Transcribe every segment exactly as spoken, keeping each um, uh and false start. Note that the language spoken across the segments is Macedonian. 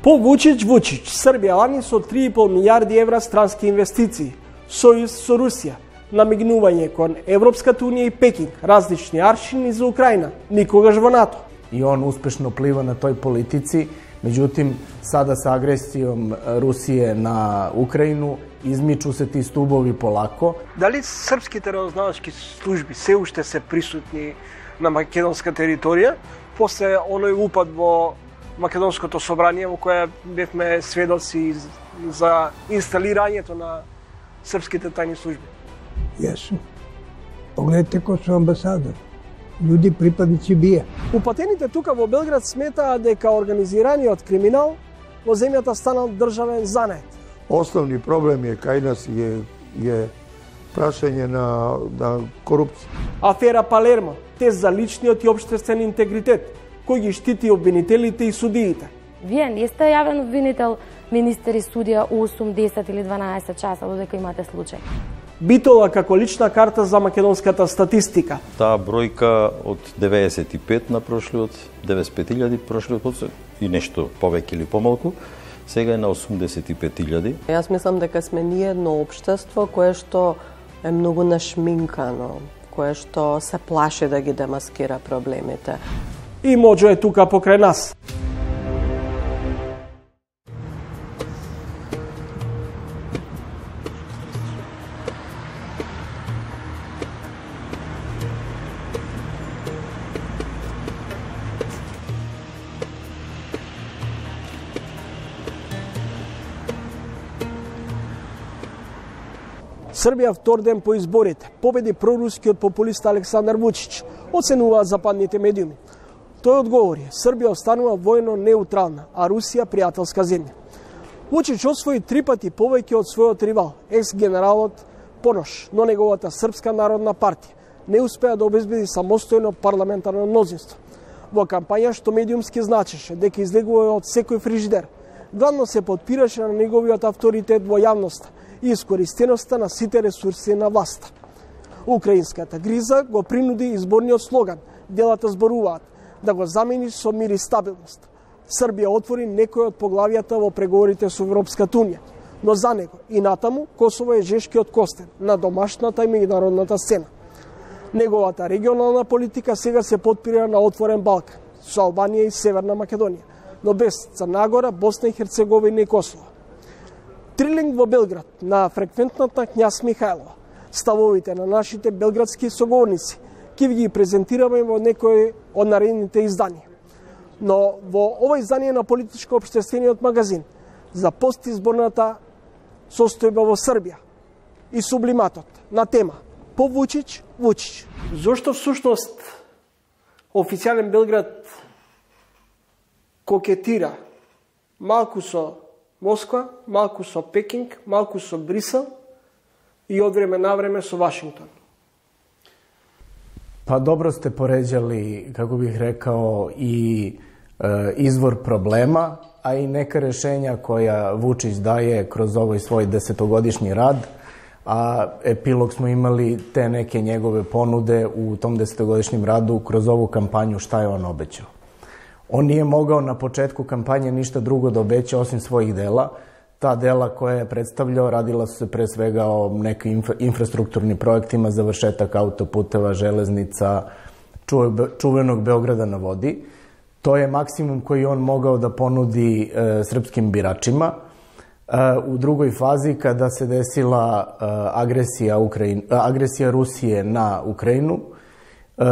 По Вучич Вучич, Србија лани со три и пол милијарди евра странски инвестиции, сојуз со Русија, намигнување кон Европската унија и Пекинг, различни аршини за Украина, никогаш во НАТО. И он успешно плива на тој политици, меđutim, sada sa agresijom Rusije na Ukrajinu izmiču se ti stubovi polako. Дали српските разузнавачки служби се уште се присутни на македонска територија, после оној упад во Македонското собрание во кое бевме сведоци за инсталирањето на српските тајни служби? Јесу. Погледнете кој су амбасадор. Луѓе припадници бија. Упатените тука во Белград сметаат дека организираниот криминал во земјата станал државен занет. Основни проблем е кај нас е, е прашање на, на корупција. Афера Палермо, тест за личниот и општествен интегритет, кој ги штити обвинителите и судиите. Вие не сте јавен обвинител, министер и судија осум, десет или дванаесет часа додека имате случај. Битола како лична карта за македонската статистика. Таа бројка од деветдесет и пет на прошлиот, деветдесет и пет илјади прошлиот год и нешто повеќе или помалку, сега е на осумдесет и пет илјади. Јас мислам дека сме ние едно општество кое што е многу нашминкано, кое што се плаши да ги демаскира проблемите. И Моџо е тука покрај нас. Србија втор ден по изборите победи прорускиот популист Александар Вучич, оценуваат западните медиуми. Тој одговори, Србија останува војно неутрална, а Русија пријателска земја. Вучич освои три пати повеќе од својот ривал, екс-генералот Понош, но неговата Српска народна партија не успеа да обезбеди самостојно парламентарно мнозинство. Во кампања што медиумски значеше дека излегува од секој фрижидер, главно се подпираше на неговиот авторитет во јавноста и искористеноста на сите ресурси на власта. Украинската криза го принуди изборниот слоган "Делата зборуваат" да го замени со мир и стабилност. Србија отвори некои од поглавијата во преговорите со Европската унија, но за него и натаму Косово е жешкиот костен на домашната и меѓународната сцена. Неговата регионална политика сега се подпира на отворен Балкан со Албанија и Северна Македонија, но без Црна Гора, Босна и Херцеговина и Косово. Трилинг во Белград на фреквентната Књаз Михајлова. Ставовите на нашите белградски соговорници ќе ви ги презентираме во некои од наредните изданија. Но во ова издание на политичко-општествениот магазин за постизборната состојба во Србија и сублиматот на тема по Вучич Вучич. Зошто всушност официјален Белград кокетира малку со Москва, малку со Пекинг, малку со Брисел и од време на време со Вашингтон? Pa dobro ste poređali, kako bih rekao, i e, izvor problema, a i neka rešenja koja Vučić daje kroz ovaj svoj desetogodišnji rad, a epilog smo imali te neke njegove ponude u tom desetogodišnjem radu kroz ovu kampanju šta je on obećao. On nije mogao na početku kampanje ništa drugo da obeća osim svojih dela. Ta dela koja je predstavljao radila su se pre svega o nekim infra, infrastrukturnim projektima, završetak autoputeva, železnica, čuvenog Beograda na vodi. To je maksimum koji on mogao da ponudi e, srpskim biračima. E, u drugoj fazi, kada se desila e, agresija, Ukrajin, agresija Rusije na Ukrajinu, e,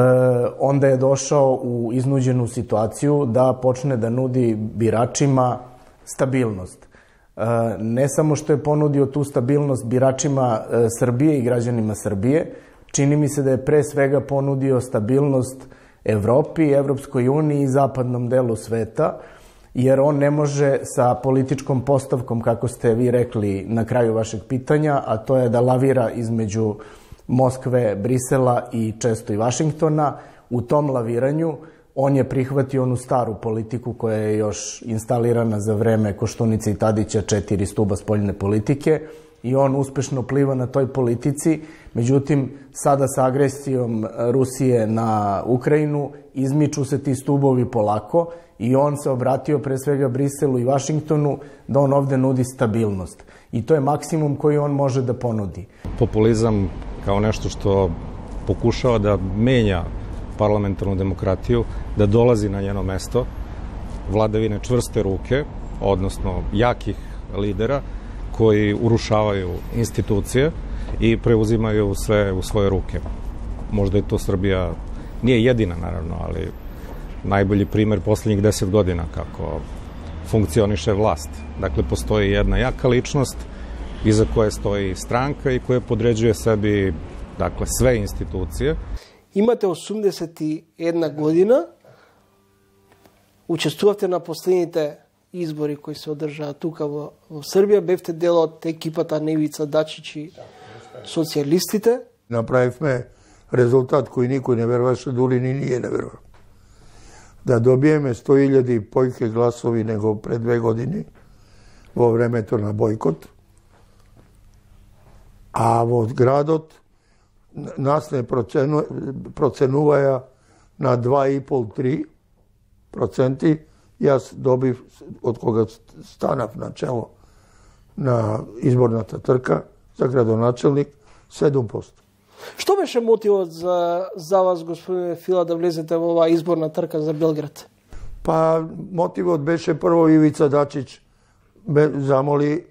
onda je došao u iznuđenu situaciju da počne da nudi biračima stabilnost. Ne samo što je ponudio tu stabilnost biračima Srbije i građanima Srbije, čini mi se da je pre svega ponudio stabilnost Evropi, Evropskoj uniji i zapadnom delu sveta, jer on ne može sa političkom postavkom, kako ste vi rekli na kraju vašeg pitanja, a to je da lavira između Moskve, Brisela i često i Vašingtona. U tom laviranju on je prihvatio onu staru politiku koja je još instalirana za vreme Koštunice i Tadića, četiri stuba spoljne politike, i on uspešno pliva na toj politici. Međutim, sada sa agresijom Rusije na Ukrajinu izmiču se ti stubovi polako i on se obratio pre svega Briselu i Vašingtonu da on ovde nudi stabilnost. I to je maksimum koji on može da ponudi. Populizam kao nešto što pokušava da menja parlamentarnu demokratiju, da dolazi na njeno mesto, vladavine čvrste ruke, odnosno jakih lidera koji urušavaju institucije i preuzimaju sve u svoje ruke. Možda je to Srbija, nije jedina naravno, ali najbolji primer poslednjih deset godina kako funkcioniše vlast. Dakle, postoji jedna jaka ličnost iza koje stoji stranka i koja podređuje sebi, dakle, sve institucije. Имате осумдесет и една година, учествувавте на последните избори кои се одржаа тука во, во Србија, бевте дел од екипата Невица Дачич и социјалистите. Направивме резултат кој никој не веруваше, дури ни ние не веруваме. Да добиеме сто илјади појке гласови него пред две години во времето на бојкот, а во градот нас не процену, проценуваја на два и пол до три проценти. Јас добив, од кога станав на чело на изборната трка за градоначелник, седум проценти. Што беше мотивот за, за вас, господине Фила, да влезете во оваа изборна трка за Белград? Па, мотивот беше прво Ивица Дачич ме замоли,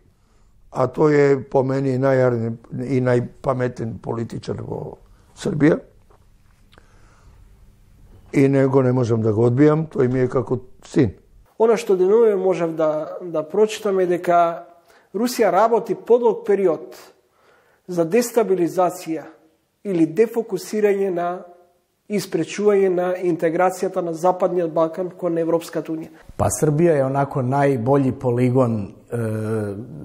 а тој е по мене најарен и најпаметен политичар во Србија. И него не можам да го одбијам, тој ми е како син. Она што денове можев да, да прочитам е дека Русија работи подолг период за дестабилизација или дефокусирање на испречување на интеграцијата на Западниот Балкан кон Европската унија. Pa Srbija je onako najbolji poligon e,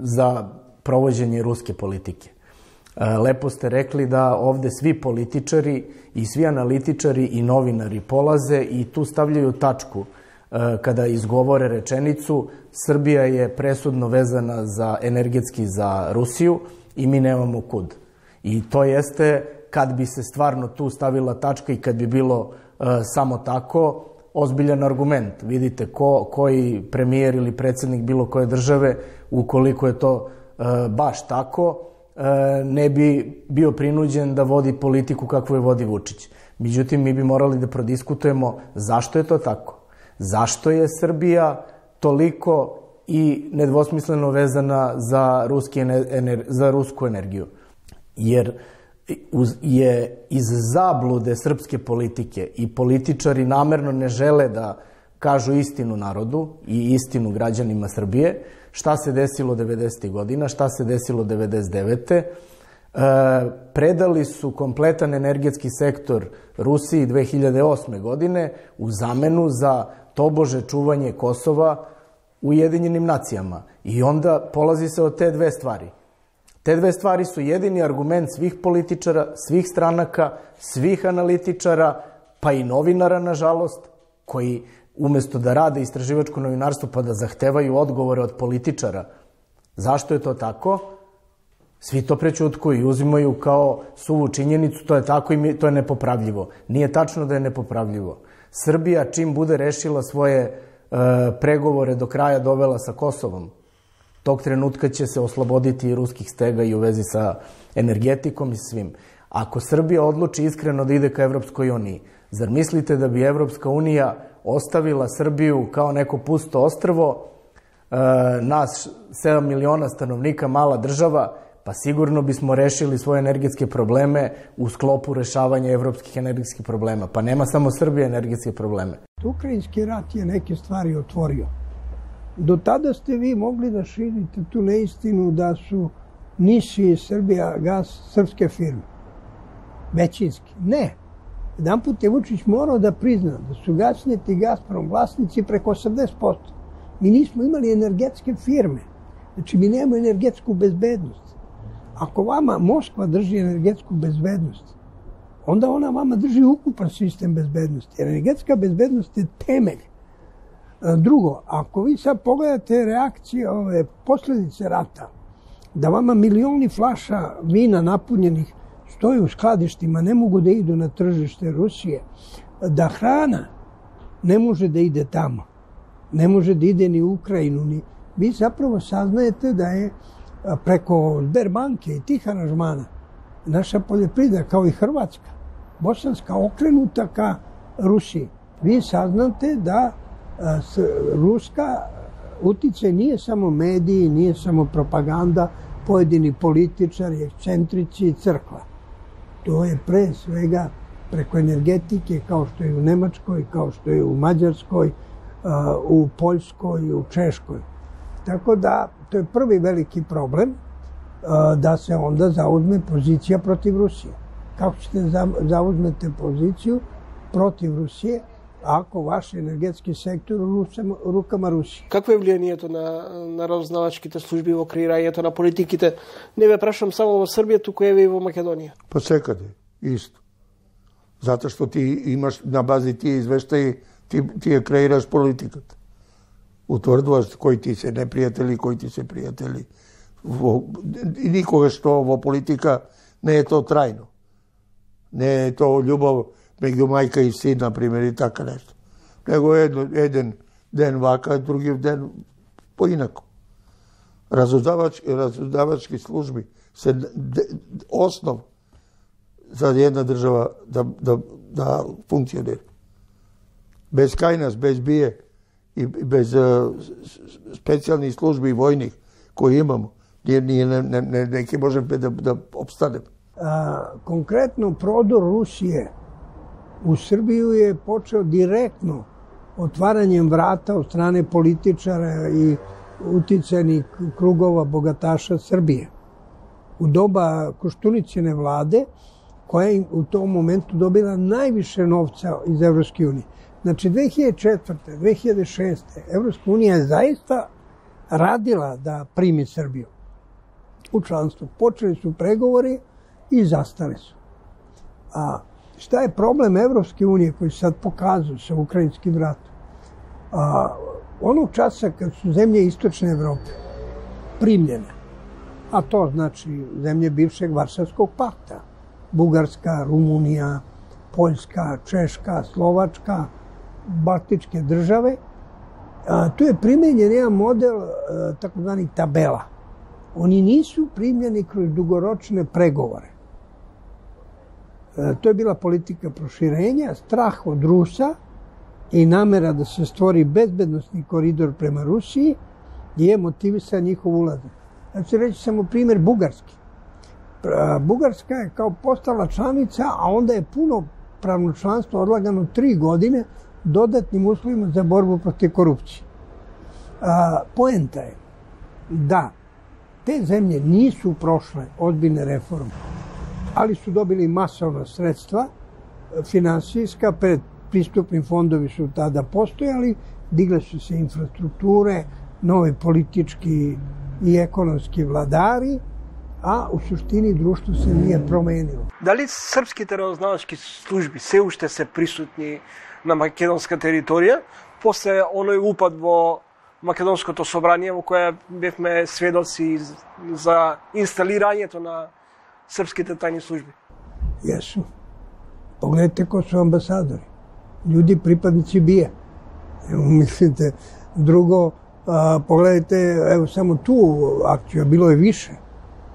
za provođenje ruske politike. E, lepo ste rekli da ovde svi političari i svi analitičari i novinari polaze i tu stavljaju tačku e, kada izgovore rečenicu Srbija je presudno vezana za energetski za Rusiju i mi nemamo kud. I to jeste kad bi se stvarno tu stavila tačka i kad bi bilo e, samo tako, ozbiljan argument. Vidite ko, koji premijer ili predsjednik bilo koje države, ukoliko je to e, baš tako, e, ne bi bio prinuđen da vodi politiku kakvu je vodi Vučić. Međutim, mi bi morali da prodiskutujemo zašto je to tako. Zašto je Srbija toliko i nedvosmisleno vezana za, ruski ener, za rusku energiju. Jer je iz zablude srpske politike i političari namerno ne žele da kažu istinu narodu i istinu građanima Srbije, šta se desilo devedesetih godina, šta se desilo devedeset devete E, predali su kompletan energetski sektor Rusiji dve hiljade osme godine u zamenu za tobože čuvanje Kosova u Ujedinjenim nacijama. I onda polazi se od te dve stvari. Te dve stvari su jedini argument svih političara, svih stranaka, svih analitičara, pa i novinara, nažalost, koji umesto da rade istraživačko novinarstvo pa da zahtevaju odgovore od političara. Zašto je to tako? Svi to prećutkuju i uzimaju kao suvu činjenicu, to je tako i to je nepopravljivo. Nije tačno da je nepopravljivo. Srbija čim bude rešila svoje e, pregovore do kraja dovela sa Kosovom, tog trenutka će se osloboditi i ruskih stega i u vezi sa energetikom i svim. Ako Srbija odluči iskreno da ide ka Evropskoj uniji, zar mislite da bi Evropska unija ostavila Srbiju kao neko pusto ostrvo, e, nas sedam miliona stanovnika, mala država, pa sigurno bismo rešili svoje energetske probleme u sklopu rešavanja evropskih energetskih problema. Pa nema samo Srbija energetske probleme. Ukrajinski rat je neke stvari otvorio. Do tada ste vi mogli da širite tu neistinu da su Niši i Srbija gas srpske firme. Većinski. Ne. Jedan put je Vučić morao da prizna da su Gasnet i Gazprom vlasnici preko osamdeset posto. Mi nismo imali energetske firme. Znači, mi nemamo energetsku bezbednost. Ako vama Moskva drži energetsku bezbednost, onda ona vama drži ukupan sistem bezbednosti. Jer energetska bezbednost je temelj. Drugo, ako vi sad pogledate reakcije, ove posljedice rata, da vama milioni flaša vina napunjenih stoji u skladištima, ne mogu da idu na tržište Rusije, da hrana ne može da ide tamo, ne može da ide ni u Ukrajinu, ni... vi zapravo saznajete da je preko Sberbanke i tih aranžmana naša poljoprivreda, kao i Hrvatska, bosanska, okrenuta ka Rusiji. Vi saznate da ruska uticaj nije samo mediji, nije samo propaganda, pojedini političari, ekscentrici i crkva. To je pre svega preko energetike, kao što je u Nemačkoj, kao što je u Mađarskoj, u Poljskoj, u Češkoj. Tako da, to je prvi veliki problem, da se onda zauzme pozicija protiv Rusije. Kako ćete zauzmete poziciju protiv Rusije ako vaš енергетски сектор у рукама Русија? Какво е влијанието на, на разузнавачките служби во креирањето на политиките? Не ве прашам само во Србија, туку еве и во Македонија. Па секаде, исто. Затоа што ти имаш на бази тие извештаи, ти, ти ја креираш политиката. Утврдуваш кои ти се непријатели, кои ти се пријатели. Во, и никогаш што во политика не е то трајно. Не е то љубов меѓу мајка и син, например, и така нешто. Него едно, еден ден вака, други ден поинако. Разузнавач, разузнавачки служби се основ за една држава да, да, да функционира. Без кајнас, без бие и без uh, специјални служби и војник кои имамо, ние, ние не, не, не, не ќе можеме да, да обстанеме. А, конкретно продор Русије u Srbiju je počeo direktno otvaranjem vrata od strane političara i uticajnih krugova bogataša Srbije. U doba Koštunicine vlade, koja je u tom momentu dobila najviše novca iz Evropske unije. Znači, dve hiljade četvrte. dve hiljade šeste. Evropska unija je zaista radila da primi Srbiju u članstvo. Počeli su pregovori i zastali su. A šta je problem Evropske unije koji sad pokazuju sa ukrajinskim ratom? A, onog časa kad su zemlje istočne Evrope primljene, a to znači zemlje bivšeg Varšavskog pakta, Bugarska, Rumunija, Poljska, Češka, Slovačka, Baltičke države, a, tu je primenjen jedan model a, takozvanih tabela. Oni nisu primljeni kroz dugoročne pregovore. To je bila politika proširenja, strah od Rusa i namera da se stvori bezbednosni koridor prema Rusiji je motivisan njihov ulazak. Ja ću reći samo primjer Bugarski. Bugarska je kao postala članica, a onda je punopravno članstvo odlagano tri godine dodatnim uslovima za borbu protiv korupcije. Poenta je da te zemlje nisu prošle ozbiljne reforme, ali su dobili masovna sredstva, finansijska, pred pristupni fondovi su tada postojali, digle su se infrastrukture, novi politički i ekonomski vladari, a u suštini društvo se nije promenilo. Дали српските разузнавачки служби се уште се присутни на македонска територија после оној упад во Македонското собрание во кое бевме сведоци за инсталирањето на srpskите tajne službe? Jesu. Pogledajte ko su ambasadori. Ljudi pripadnici B I A. Evo, mislite, drugo, a, pogledajte, evo samo tu akciju, bilo je više.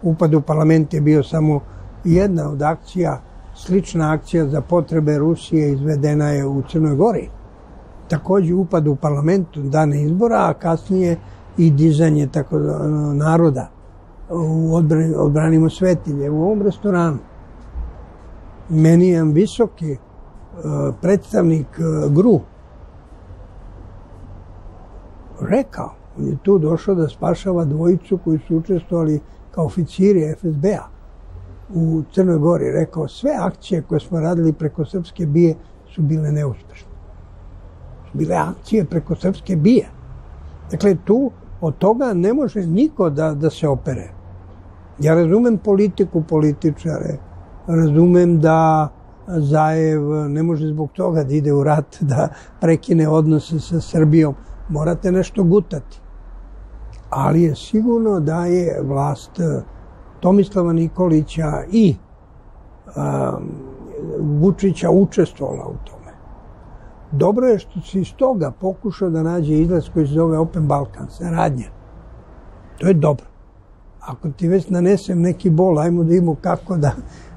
Upad u parlament je bio samo jedna od akcija, slična akcija za potrebe Rusije izvedena je u Crnoj Gori. Takođe upad u parlament dane izbora, a kasnije i dizanje tako naroda u odbrani, odbranimo svetinje u ovom restoranu. Meni je visoki uh, predstavnik uh, G R U rekao, on je tu došao da spašava dvojicu koji su učestvovali kao oficiri F S B-a u Crnoj Gori. Rekao, sve akcije koje smo radili preko srpske B I A su bile neuspešne. Su bile akcije preko srpske B I A. Dakle, tu od toga ne može niko da, da se opere. Ja razumem politiku, političare, razumem da Zajev ne može zbog toga da ide u rat, da prekine odnose sa Srbijom. Morate nešto gutati. ali je sigurno da je vlast Tomislava Nikolića i um, Vučića učestvovala u tome. Dobro je što se iz toga pokušao da nađe izlaz koji se zove Open Balkan, saradnja. To je dobro. Ako ti već nanesem neki bol, ajmo da imamo kako da,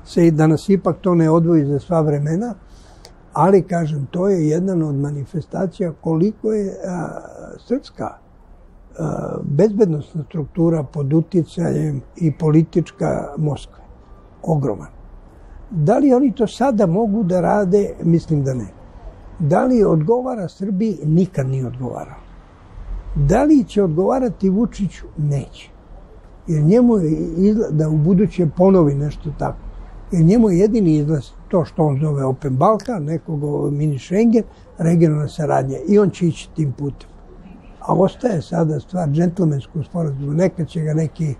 se, da nas ipak to ne odvoji za sva vremena, ali, kažem, to je jedna od manifestacija koliko je a, srpska a, bezbednostna struktura pod uticajem i politička Moskve. Ogroman. Da li oni to sada mogu da rade? Mislim da ne. Da li odgovara Srbiji? Nikad nije odgovarao. Da li će odgovarati Vučiću? Neće. Jer njemu je izlaz, da u buduće ponovi nešto tako. Jer njemu je jedini izlaz to što on zove Open Balkan, nekog mini Schengen, regionalna saradnja. I on će ići tim putem. A ostaje sada stvar džentlmenskog sporazuma. Nekad će ga neki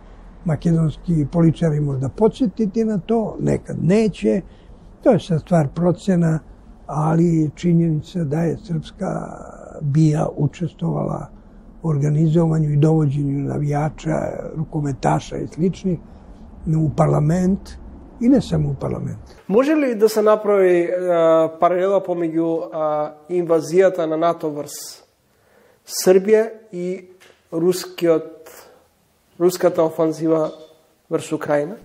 makedonski političari možda podsjetiti na to, nekad neće. To je sad stvar procena, ali činjenica da je srpska bija učestvovala u organizovanju i dovođenju navijača, rukometaša i sličnih u parlament i ne samo u parlament. Може ли да се направи а, паралела помеѓу а, инвазијата на НАТО врз Србија и рускиот, руската офанзива врз Украина?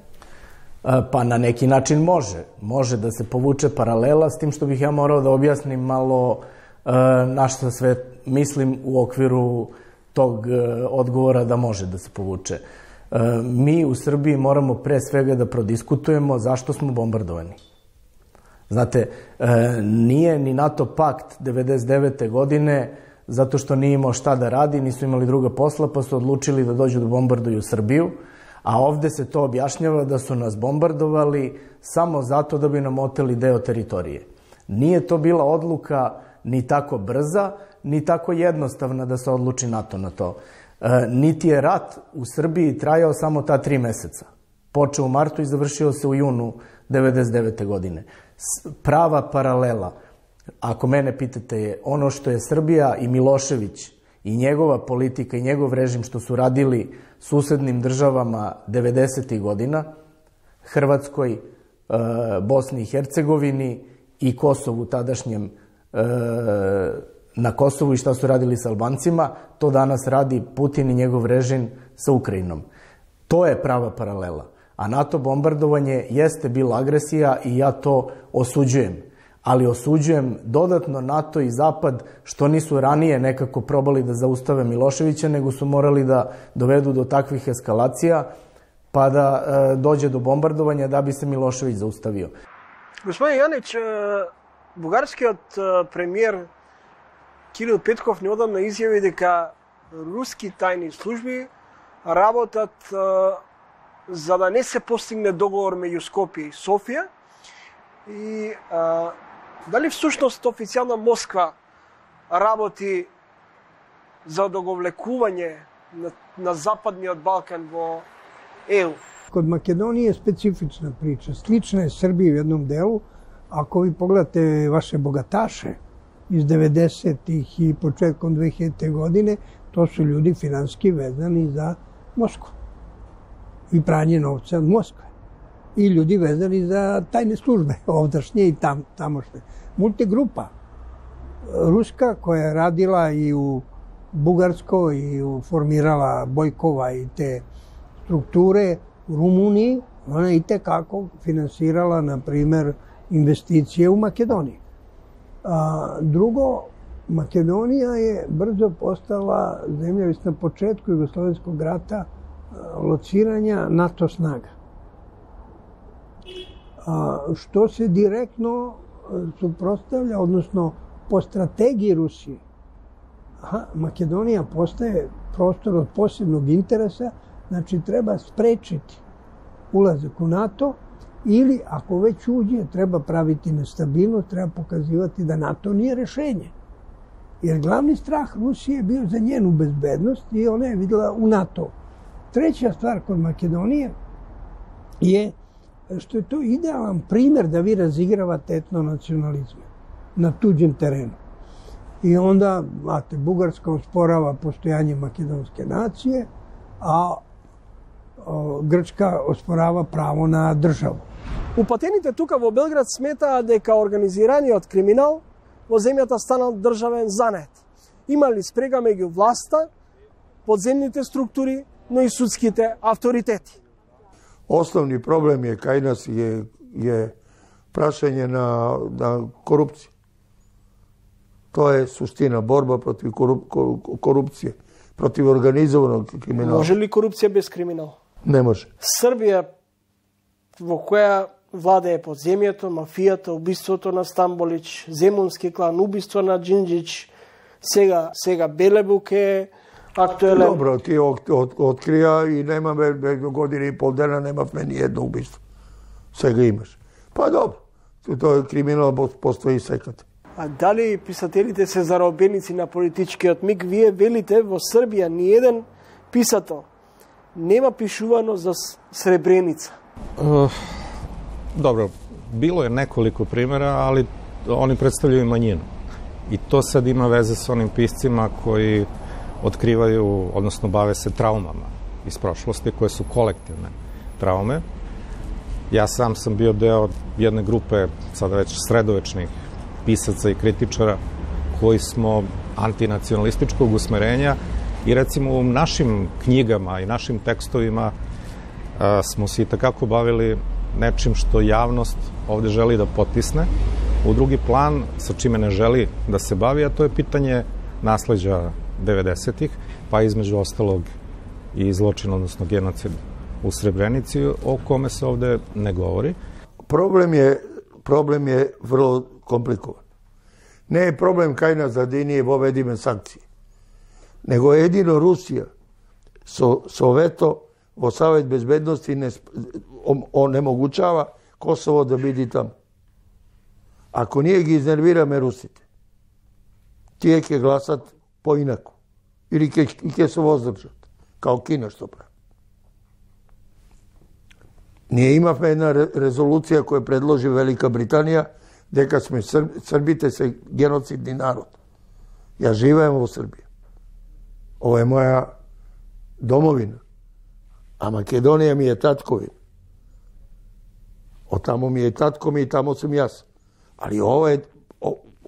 Pa na neki način može. Može da se povuče paralela, s tim što bih ja morao da objasnim malo na što sve mislim u okviru tog odgovora da može da se povuče. Mi u Srbiji moramo pre svega da prodiskutujemo zašto smo bombardovani. Znate, nije ni NATO pakt devedeset devete godine zato što nije imao šta da radi, nisu imali druga posla, pa su odlučili da dođu da bombarduju Srbiju, a ovde se to objašnjava da su nas bombardovali samo zato da bi nam oteli deo teritorije. Nije to bila odluka ni tako brza, ni tako jednostavna da se odluči NATO na to. E, niti je rat u Srbiji trajao samo ta tri meseca. Počeo u martu i završio se u junu devedeset devete godine. Prava paralela, ako mene pitate, je ono što je Srbija i Milošević i njegova politika i njegov režim što su radili susednim državama devedesetih godina, Hrvatskoj, Bosni i Hercegovini i Kosovu tadašnjem, na Kosovu i šta su radili sa Albancima, to danas radi Putin i njegov režim sa Ukrajinom. To je prava paralela. A NATO bombardovanje jeste bila agresija i ja to osuđujem. Ali osuđujem dodatno NATO i Zapad što nisu ranije nekako probali da zaustave Miloševića, nego su morali da dovedu do takvih eskalacija pa da e, dođe do bombardovanja da bi se Milošević zaustavio. Господин Јанич, бугарскиот премиер Кирил Петков неодамна изјави дека руски тајни служби работат за да не се постигне договор меѓу Скопје и Софија. И а, дали всушност официјална Москва работи за договлекување на, на Западниот Балкан во Е У? Kod Makedonije je specifična priča. Slična je Srbiji u jednom delu. Ako vi pogledate vaše bogataše iz devedesetih i početkom dve hiljadite godine, to su ljudi finansijski vezani za Moskvu i pranje novca od Moskve. I ljudi vezani za tajne službe, ovdašnje i tam, tamošnje. Multigrupa ruska koja je radila i u Bugarskoj i u, formirala Bojkova i te strukture u Rumuniji, ona je i tekako finansirala, na primer, investicije u Makedoniji. A, drugo, Makedonija je brzo postala zemlja, već na početku Jugoslovenskog rata, lociranja NATO snaga. A, što se direktno suprotstavlja, odnosno po strategiji Rusije. Aha, Makedonija postaje prostor od posebnog interesa, znači treba sprečiti ulazak u NATO ili ako već uđe treba praviti nestabilnost, treba pokazivati da NATO nije rešenje. Jer glavni strah Rusije je bio za njenu bezbednost i ona je videla u NATO. Treća stvar kod Makedonije je što je to idealan primer da vi razigravate etnonacionalizme na tuđem terenu. I onda, znate, Bugarska osporava postojanje makedonske nacije, а Грчка оспорава право на држава. Упатените тука во Белград сметаат дека организираниот криминал во земјата станал државен занет. Имали спрега меѓу власта, подземните структури, но и судските авторитети. Основни проблем е кај нас е, е прашање на, на корупција. Тоа е суштина, борба против коруп, корупција, против организованog криминала. Може ли корупција без криминал? Не може. Србија, во која владее подземјето, мафијата, убиството на Стамболич, Земунски клан, убиство на Джинджич, сега сега Белебук е актуелен. Добро, ти от, от, открија и немаме година и пол дена немавме ни едно убиство. Сега имаш. Па добро, тоа криминал постои секаде. А дали писателите се заробеници на политичкиот миг? Вие велите во Србија ни еден писател нема пишувано за Сребреница. Uh, dobro, bilo je nekoliko primjera, ali oni predstavljaju manjinu. I to sad ima veze s onim piscima koji otkrivaju, odnosno bave se traumama iz prošlosti, koje su kolektivne traume. Ja sam sam bio deo jedne grupe, sada već sredovečnih pisaca i kritičara, koji smo antinacionalističkog usmerenja i recimo u našim knjigama i našim tekstovima a, smo se i takako bavili nečim što javnost ovde želi da potisne u drugi plan, sa čime ne želi da se bavi, a to je pitanje nasleđa devedesetih, pa između ostalog i zločin, odnosno genocid u Srebrenici, o kome se ovde ne govori. Problem je, problem je vrlo komplikovan. Ne je problem kaj nas zadinije vovedime sankcije, nego jedino Rusija so, so veto vo Savet bezbednosti ne, onemogućava Kosovo da bidi tamo. Ako nije gi iznervira, me Rusite. Tije ke glasat po inaku. Ili ke, ke se vozdržat. Kao Kina što pravi. Nije imavme jedna re, rezolucija koju predloži Velika Britanija, дека сме Срб, Србите се геноцидни народ. Ја живеем во Србија. Ова е моја домовина. А Македонија ми е татковина. Од тамо ми е татко ми и тамо сум јас. Али ова е,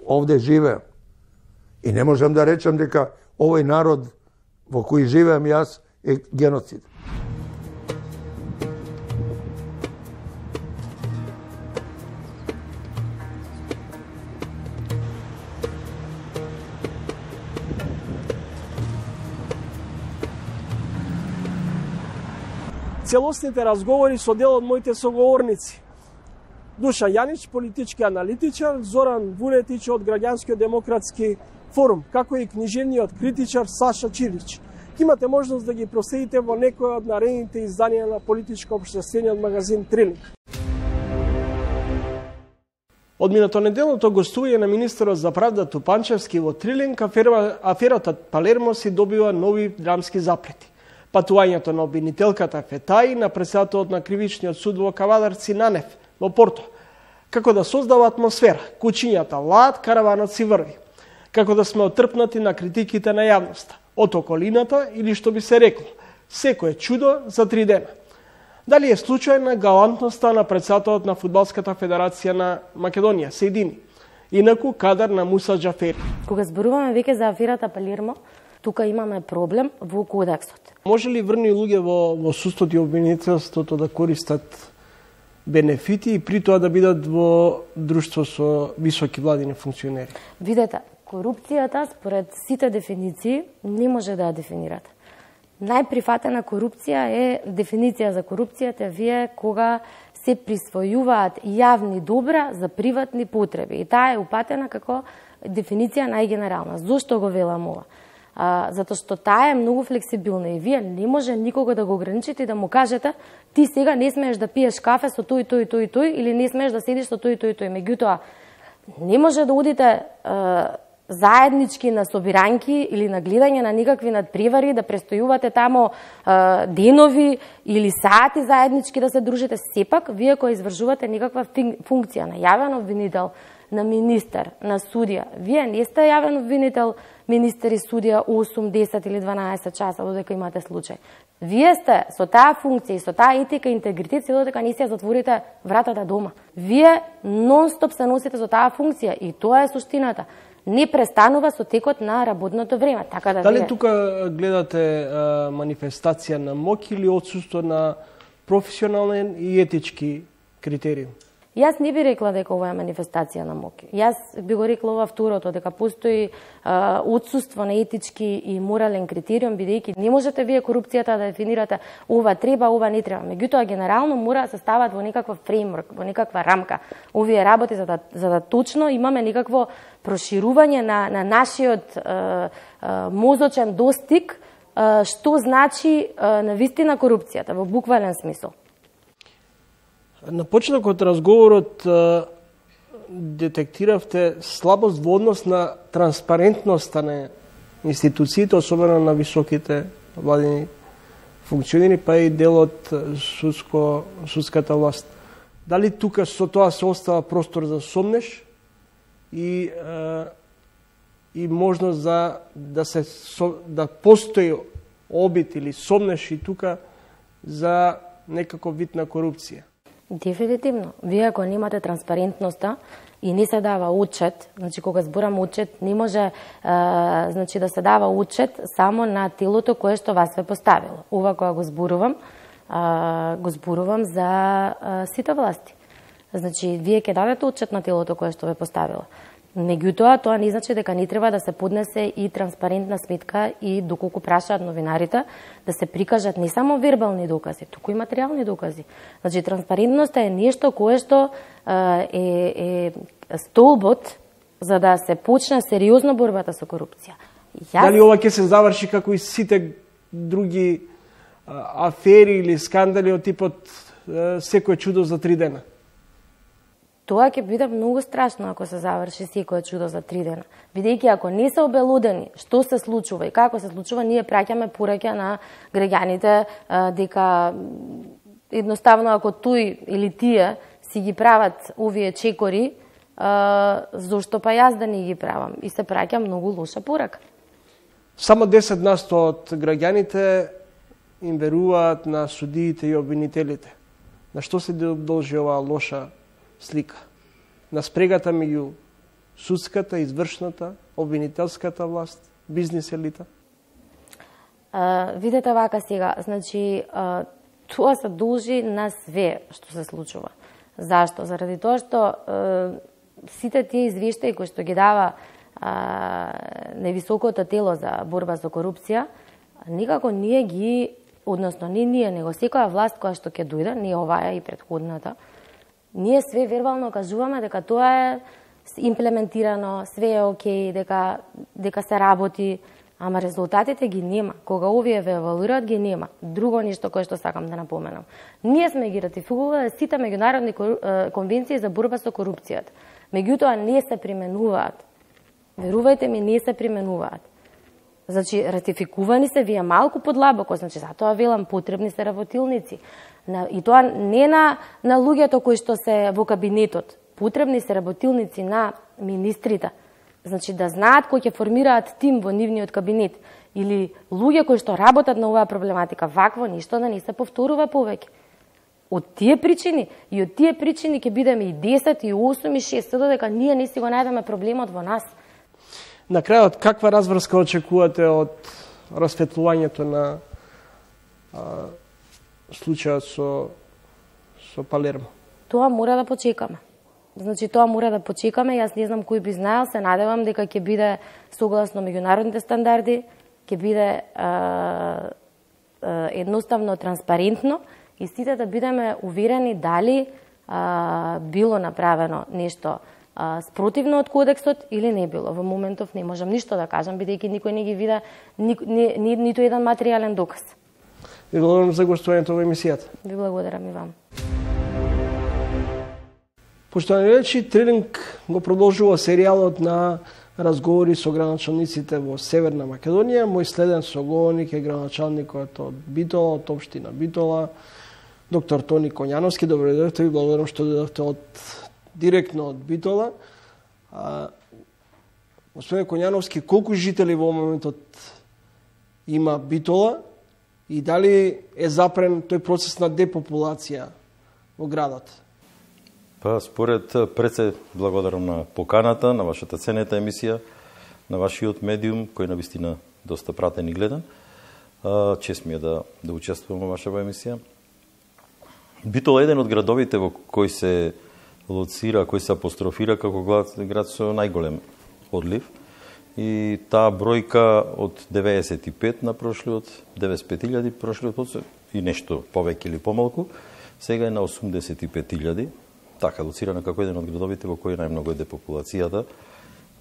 овде живеем. И не можам да речам дека овој народ во кој живеем јас е геноцид. Целосните разговори со дел од моите соговорници. Душа Јанич, политички аналитичар, Зоран Вулетич од Граѓанскиот демократски форум, како и книжевниот критичар Саша Чилич. Имате можност да ги проследите во некој од наредните изданија на политичко-општествениот магазин Трилинг. Од минато неделното гостување на министерот за правда Тупанчевски во Трилинг, афера, аферата Палермо си добива нови драмски заплети. Патувањето на обвинителката Фетаи на председателот на кривичниот суд во Кавадарци Нанев во Порто. Како да создава атмосфера, кучињата лаат, караванот си врви. Како да сме отрпнати на критиките на јавноста, од околината или што би се рекло, секое чудо за три дена. Дали е случајна галантноста на председателот на Фудбалската федерација на Македонија, Сејдини, инаку кадар на Муса Џафери. Кога зборуваме веќе за аферата Палермо, тука имаме проблем во кодексот. Може ли врни луѓе во, во судството и обвинителството да користат бенефити и при тоа да бидат во друштво со високи владини функционери? Видете, корупцијата според сите дефиниции не може да ја дефинирате. Најприфатена корупција е дефиниција за корупцијата вие кога се присвојуваат јавни добра за приватни потреби. И таа е упатена како дефиниција најгенерална. Зошто го велам ова? А, затоа што таа е многу флексибилна и вие не може никого да го ограничите и да му кажете ти сега не смееш да пиеш кафе со тој, тој, тој, тој или не смееш да седиш со тој, тој, тој. Меѓутоа, не може да одите а, заеднички на собиранки или на гледање на никакви надпревари, да престојувате тамо а, денови или сати заеднички да се дружите. Сепак, вие кои извршувате некаква функција на јавен обвинител, на министер, на судија. Вие не сте јавен обвинител, министер и судија осум, десет или дванаесет часа додека имате случај. Вие сте со таа функција и со таа етика и интегритет додека не си ја затворите вратата дома. Вие нон-стоп се носите со таа функција и тоа е суштината. Не престанува со текот на работното време. Така да Дали вие... тука гледате а, манифестација на моќ или отсуство на професионален и етички критериум? Јас не би рекла дека ова е манифестација на моќ. Јас би го рекла ова второто, дека постои а, отсуство на етички и морален критериум, бидејќи не можете вие корупцијата да дефинирате ова треба, ова не треба. Меѓутоа, генерално мора да се стават во некаква фреймворк, во некаква рамка. Овие работи за да, за да точно имаме некакво проширување на, на нашиот а, а, мозочен достиг, а, што значи а, на вистина корупцијата, во буквален смисол. На почетокот разговорот детектиравте слабост во однос на транспарентноста на институциите, особено на високите владини функционери, па и делот судско, судската власт. Дали тука со тоа се остава простор за сомнеш и, и можност за да се да постои обид или сомнеш и тука за некако вид на корупција? Дефинитивно. Вие ако немате транспарентноста и не се дава отчет, значи кога зборам отчет, не може а, значи да се дава отчет само на телото кое што вас ве поставило. Ова кога го зборувам, а, го зборувам за а, сите власти. Значи, вие ќе дадете отчет на телото кое што ве поставило. Меѓутоа, тоа не значи дека не треба да се поднесе и транспарентна сметка и доколку прашаат новинарите, да се прикажат не само вербални докази, туку и материјални докази. Значи, транспарентноста е нешто кое што е, е столбот за да се почне сериозно борбата со корупција. Јас... Дали ова ќе се заврши како и сите други а, афери или скандали од типот а, секој чудо за три дена? Тоа ќе биде многу страшно ако се заврши секое чудо за три дена. Бидејќи ако не се обелудени што се случува и како се случува, ние праќаме пораќа на граѓаните дека едноставно ако тој или тие си ги прават овие чекори, зошто па јас да не ги правам? И се праќа многу лоша порака. Само десет на сто од граѓаните им веруваат на судиите и обвинителите. На што се должи оваа лоша слика? На спрегата меѓу судската, извршната, обвинителската власт, бизнес елита? А, видете вака сега, значи, а, тоа се должи на све што се случува. Зашто? Заради тоа што а, сите тие извештаи кои што ги дава а, невисокото тело за борба со корупција, никако ние ги, односно не ние, него секоја власт која што ќе дојде, не оваа и предходната, ние све вербално кажуваме дека тоа е имплементирано, све е окей, дека, дека се работи, ама резултатите ги нема. Кога овие ве евалуираат, ги нема. Друго нешто кое што сакам да напоменам. Ние сме ги ратификувале сите меѓународни конвенции за борба со корупцијата. Меѓутоа не се применуваат. Верувајте ми, не се применуваат. Значи, ратификувани се, вие малку подлабоко, значи, затоа велам, потребни се работилници. На, и тоа не на, на луѓето кои што се во кабинетот. Потребни се работилници на министрите. Значи, да знаат кои ќе формираат тим во нивниот кабинет. Или луѓе кои што работат на оваа проблематика. Вакво ништо да не се повторува повеќе. Од тие причини, и од тие причини ќе бидеме и десет, и осум, и шест, додека ние не си го најдеме проблемот во нас. На крајот, каква разврска очекувате од расветлувањето на а, случајот со, со Палермо? Тоа мора да почекаме. Значи, тоа мора да почекаме. Јас не знам кој би знаел, се надевам дека ќе биде согласно меѓународните стандарди, ќе биде а, а, едноставно транспарентно и сите да бидеме уверени дали а, било направено нешто а, спротивно од кодексот или не било. Во моментов не можам ништо да кажам, бидејќи никој не ги вида ни, ни, ни, ниту еден материјален доказ. Ви благодарам за гостувањето во емисијата. Ви благодарам и вам. Поштовани речи, Трилинг го продолжува серијалот на разговори со граначалниците во Северна Македонија. Мој следен соговорник е граначалникот од Битола, од општина Битола, доктор Тони Коњановски. Добро дојдовте, ви благодарам што дојдовте од директно од Битола. А, господин Коњановски, колку жители во моментот има Битола и дали е запрен тој процес на депопулација во градот? Па, според пред се благодарам на поканата, на вашата ценета емисија, на вашиот медиум, кој навистина доста пратен и гледан. Чест ми е да, да учествувам во вашава емисија. Битола е еден од градовите во кој се лоцира, кој се апострофира како град, град со најголем одлив. И таа бројка од деветдесет и пет на прошлиот, деветдесет и пет илјади прошлиот и нешто повеќе или помалку, сега е на осумдесет и пет илјади. Така лоцирана како еден од градовите во кој најмногу е депопулацијата.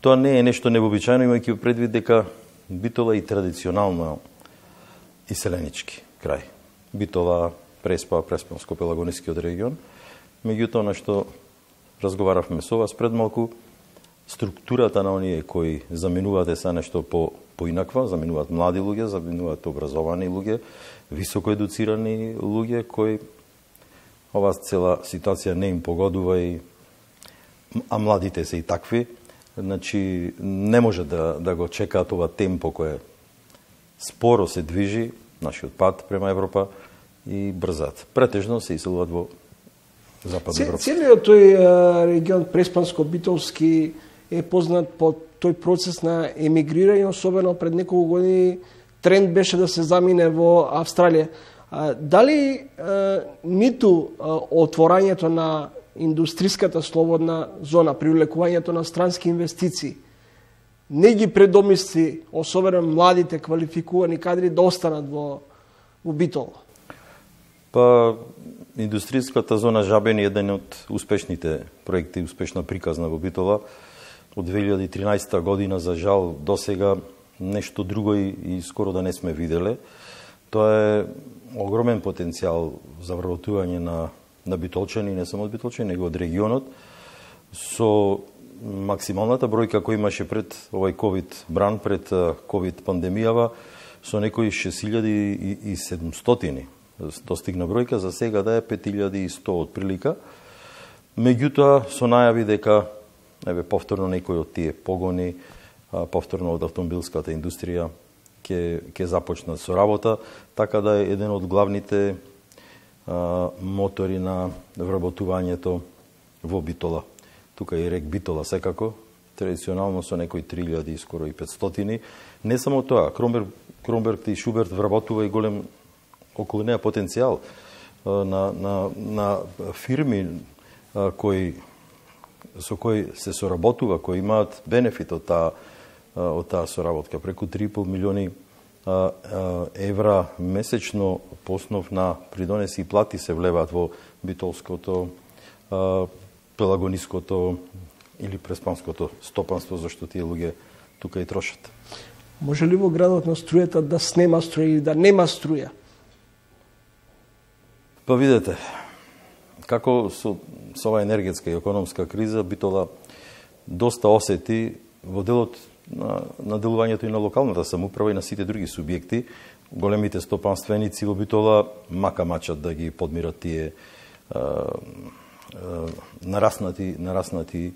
Тоа не е нешто невообичаено, имајќи предвид дека Битола е традиционално иселенички крај. Битола, Преспа, Преспанско-Пелагонискиот регион. Меѓутоа, на што разговаравме со вас пред малку, структурата на оние кои заменуваат е са нешто по поинаква, заменуваат млади луѓе, заменуваат образовани луѓе, високо едуцирани луѓе кои оваа цела ситуација не им погодува и а младите се и такви. Значи, не може да, да го чекаат ова темпо кое споро се движи, нашиот пат према Европа, и брзат. Претежно се иселуваат во Западна Европа. Целиот тој регион Преспанско-Битолски е познат по тој процес на емигрирање, особено пред неколку години тренд беше да се замине во Австралија. Дали ниту отворањето на индустриската слободна зона, привлекувањето на странски инвестиции, не ги предомисли, особено младите квалификувани кадри, да останат во, во Битола? Па, индустријската зона Жабен е еден од успешните проекти, успешна приказна во Битола. Од две илјади и тринаесетта година, за жал, досега нешто друго и, и скоро да не сме виделе. Тоа е огромен потенцијал за вработување на, на битолчани, не само од битолчани, него од регионот, со максималната бројка која имаше пред овој ковид бран, пред ковид пандемијава, со некои шест илјади и седумстотини. Достигна бројка, за сега да е пет илјади и сто од прилика. Меѓутоа, со најави дека еве повторно некои од тие погони, повторно од автомобилската индустрија ќе ќе започнат со работа, така да е еден од главните а, мотори на вработувањето во Битола. Тука и рек Битола секако, традиционално со некои три илјади и скоро и петстотини. Не само тоа, Кромберг, Кромберг и Шуберт вработува и голем околу неа потенцијал на, на, на фирми а, кои со кои се соработува, кои имаат бенефит од таа од таа соработка. Преку три и пол милиони а, а, евра месечно по основ на придонеси и плати се влеваат во битолското, а, пелагониското или преспанското стопанство, зашто тие луѓе тука и трошат. Може ли во градот на струјата да снема струја или да нема струја? Па видете, како со, со ова енергетска и економска криза, Битола доста осети во делот на, на делувањето и на локалната самоуправа и на сите други субјекти. Големите стопанственици во Битола мака мачат да ги подмират тие а, а, нараснати, нараснати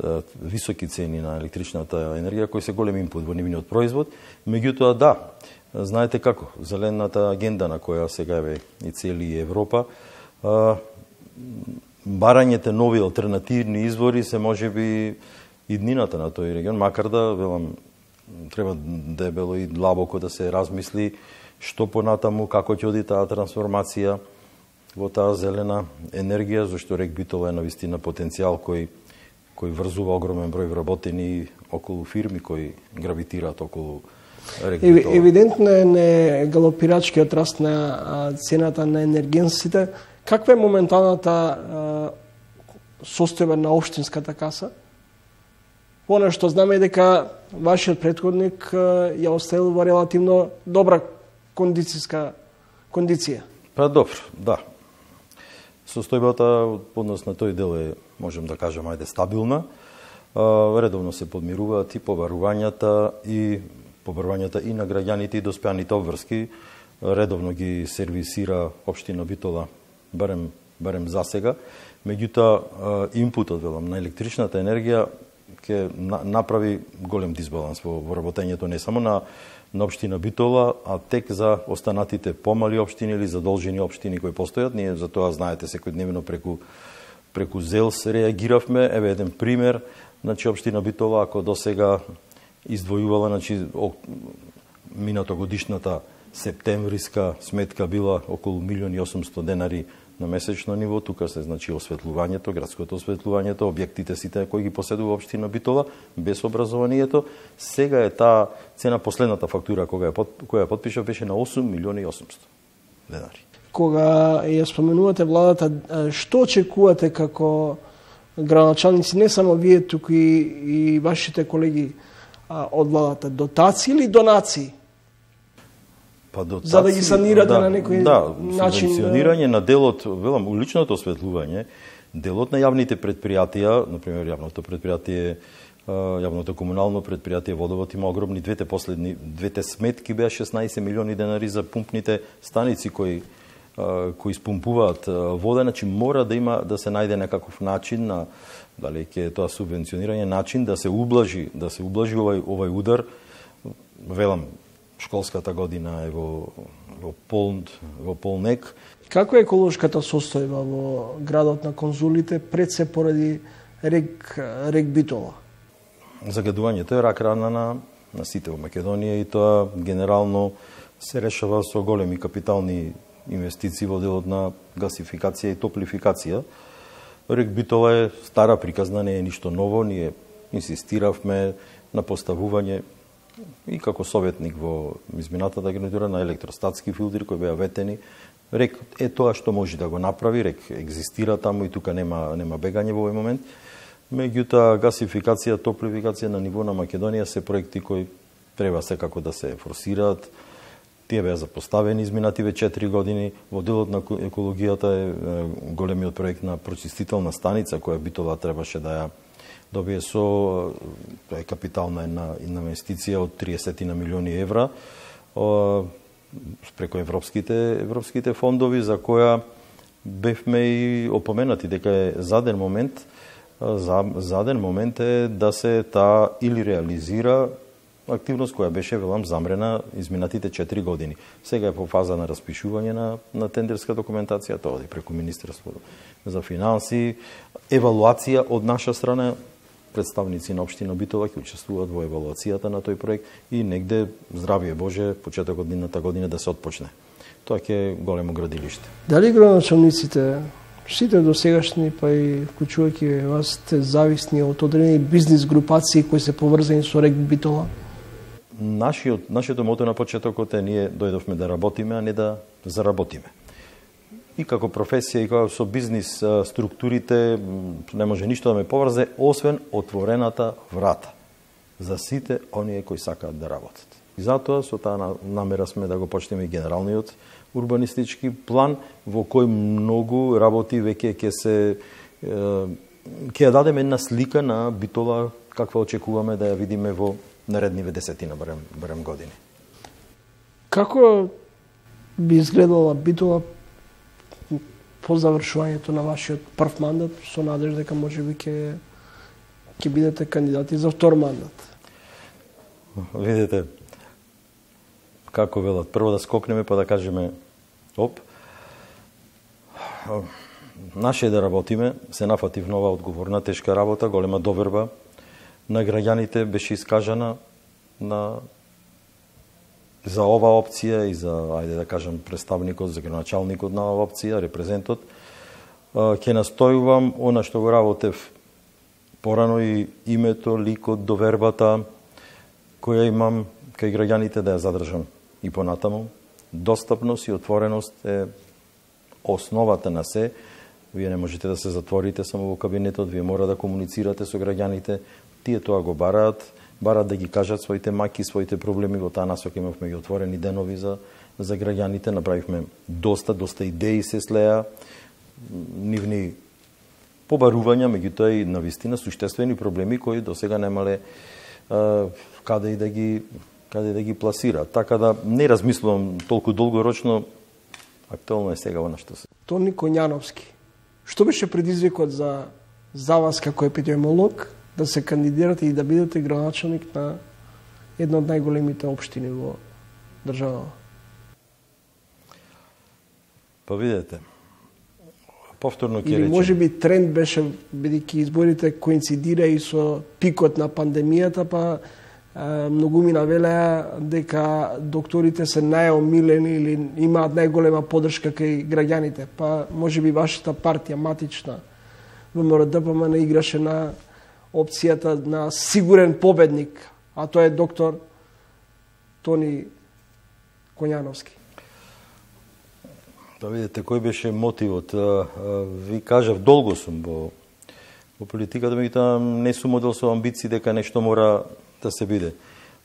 а, високи цени на електричната енергија, кои се голем инпут во нивниот производ. Меѓутоа, да, знаете како, зелената агенда на која сега е и цели Европа, а, барањето нови алтернативни извори се можеби иднината на тој регион, макар да, велам, треба дебело и длабоко да се размисли што понатаму, како ќе оди таа трансформација во таа зелена енергија, зашто рек Битола е навистина потенцијал кој кој врзува огромен број вработени околу фирми кои гравитираат околу рек Битола. Евидентно е не галопирачкиот раст на цената на енергенсите. Каква е моменталната состојба на општинската каса? Она што знаме е дека вашиот претходник ја оставил во релативно добра кондицијска кондиција. Па добро, да. Состојбата однос на тој дел е, можем да кажем, ајде стабилна. Редовно се подмируваат и побарувањата и побарувањата и на граѓаните и доспеаните обврски. Редовно ги сервисира општина Битола, барем барем за сега. Меѓутоа, импутот, велам, на електричната енергија ќе направи голем дисбаланс во, во работењето не само на на општина Битола, а тек за останатите помали општини или задолжени општини кои постојат. Ние за тоа знаете секојдневно преку преку ЗЕЛС реагиравме. Еве еден пример, значи општина Битола ако досега издвојувала, значи минато годишната септемвриска сметка била околу милион и осумсто денари на месечно ниво, тука се значи осветлувањето, градското осветлувањето, објектите сите кои ги поседува општина Битола, без образованието. Сега е таа цена, последната фактура кога ја, која ја подпишав беше на осум милиони и осумсто денари. Кога ја споменувате владата, што очекувате како градоначалници, не само вие, туку и, и вашите колеги а, од владата? Дотации или донации? Па дотации, за да ги санирате да, на некој да, начин. Субвенционирање на делот, велам, уличното осветлување, делот на јавните предпријатија, например јавното предпријатие, јавното комунално предпријатие Водовод има огромни, двете последни, двете сметки беа шеснаесет милиони денари за пумпните станици кои кои спумпуваат вода, значи мора да има да се најде некаков начин на дали ќе тоа субвенционирање, начин да се ублажи, да се ублажи овај овај удар. Велам, школската година е во во пол во полнек. Како е еколошката состојба во градот на конзулите, пред се поради рек рек Битола? Загадувањето е рак рана на на сите во Македонија и тоа генерално се решава со големи капитални инвестиции во делот на гасификација и топлификација. Рек Битола е стара приказна, не е ништо ново, ние инсистиравме на поставување и како советник во изминатата гарнитура на електростатски филтри кои беа ветени. Рек е тоа што може да го направи, рек екзистира таму и тука нема нема бегање во овој момент. Меѓутоа гасификација, топлификација на ниво на Македонија се проекти кои треба секако да се форсираат. Тие беа запоставени изминативе четири години. Во делот на екологијата е големиот проект на прочистителна станица која Битола требаше да ја добие со тоа е капитална една инвестиција од триесет на милиони евра преку европските европските фондови, за која бевме и опоменати дека е заден момент за заден момент е да се таа или реализира активност која беше, велам, замрена изминатите четири години. Сега е по фаза на распишување на, на тендерска документација, тоа оди преку Министерството за финанси, евалуација од наша страна, представници на општина Битола ќе учествуваат во евалуацијата на тој проект и негде, здравие Боже, почетокот на година да се отпочне. Тоа ќе е големо градилиште. Дали градоначалниците, сите досегашни, па и вклучувајќи вас, сте зависни од одредени бизнис групации кои се поврзани со рек Битола? Нашиот, нашето мото на почетокот е ние дојдовме да работиме, а не да заработиме. И како професија, и како со бизнис структурите, не може ништо да ме поврзе, освен отворената врата за сите оние кои сакаат да работат. И затоа со таа намера сме да го почнеме генералниот урбанистички план, во кој многу работи веќе ќе се ќе ја дадеме една слика на Битола каква очекуваме да ја видиме во наредниве десетина барем, барем години. Како би изгледала Битола по завршувањето на вашиот прв мандат, со надеж дека можеби ќе ќе бидете кандидати за втор мандат? Видите, како велат, прво да скокнеме па да кажеме оп. Наше е да работиме, се нафатив нова одговорна, тешка работа, голема доверба на граѓаните беше искажана на за ова опција и за, ајде да кажам, представникот, за градоначалникот на ова опција, репрезентот. Ќе настојувам она што го работев порано и името, ликот, довербата која имам кај граѓаните да ја задржам и понатаму. Достапност и отвореност е основата на се. Вие не можете да се затворите само во кабинетот, вие мора да комуницирате со граѓаните. Тие тоа го бараат, бараат да ги кажат своите маки, своите проблеми. Во таа насока имавме и отворени денови за, за граѓаните. Направивме доста, доста идеи се слеа, нивни побарувања, меѓутоа и навистина суштествени проблеми кои досега немале а, каде и да ги каде да ги пласира. Така да не размислувам толку долгорочно, актуално е сега она што се. Тони Коњановски, што беше предизвикот за за вас како епидемиолог да се кандидирате и да бидете градоначалник на една од најголемите општини во државата? Па видете, повторно ќе Или речем. може би тренд беше, бидејќи изборите коинцидира и со пикот на пандемијата, па е, многумина велеа дека докторите се најомилени или имаат најголема поддршка кај граѓаните. Па може би вашата партија, матична ВМРО-ДПМН, играше на опцијата на сигурен победник, а тоа е доктор Тони Коњановски. Да видите, кој беше мотивот? Ви кажав, долго сум во, во политиката, меѓутоа не сум одел со амбиции дека нешто мора да се биде.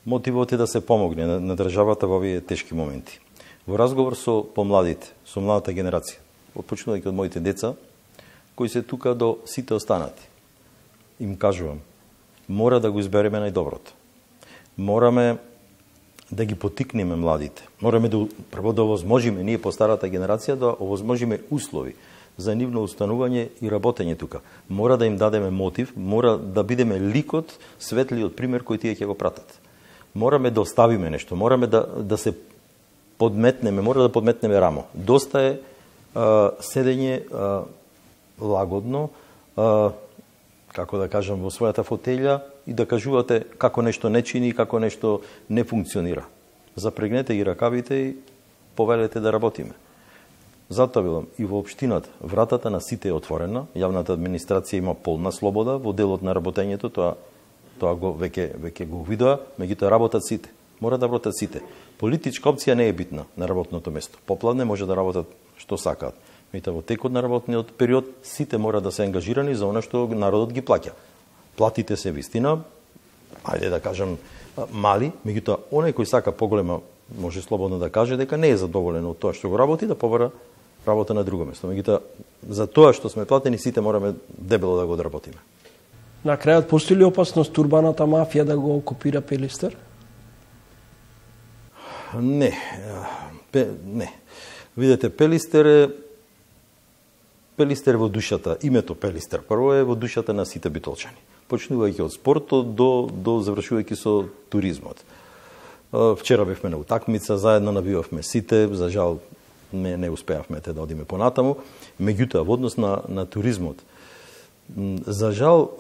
Мотивот е да се помогне на, на државата во овие тешки моменти. Во разговор со помладите, со младата генерација, почнувајќи од моите деца, кои се тука до сите останати, им кажувам, мора да го избереме најдоброто. Мораме да ги потикнеме младите. Мораме да прво да овозможиме ние по старата генерација да овозможиме услови за нивно устанување и работење тука. Мора да им дадеме мотив, мора да бидеме ликот, светлиот пример кој тие ќе го пратат. Мораме да оставиме нешто, мораме да да се подметнеме, мора да подметнеме рамо. Доста е а, седење а, лагодно, а, како да кажам, во својата фотелја и да кажувате како нешто не чини, како нешто не функционира. Запрегнете ги ракавите и повелете да работиме. Затоа велам, и во општината вратата на сите е отворена, јавната администрација има полна слобода во делот на работењето, тоа тоа го веќе веќе го видоа, меѓутоа работат сите. Мора да работат сите. Политичка опција не е битна на работното место. Попладне може да работат што сакаат. Меѓутоа во текот на работниот период сите мора да се ангажирани за она што народот ги плаќа. Платите се вистина, ајде да кажам мали, меѓутоа оној кој сака поголема може слободно да каже дека не е задоволен од тоа што го работи, да побара работа на друго место. Меѓутоа за тоа што сме платени сите мораме дебело да го одработиме. На крајот постои ли опасност урбаната мафија да го окупира Пелистер? Не. Пе, не. Видете, Пелистер е Пелистер во душата, името Пелистер прво е во душата на сите битолчани. Почнувајќи од спортот до до завршувајќи со туризмот. Вчера бевме на утакмица, заедно навивавме сите, за жал не не успеавме те да одиме понатаму, меѓутоа во однос на на туризмот за жал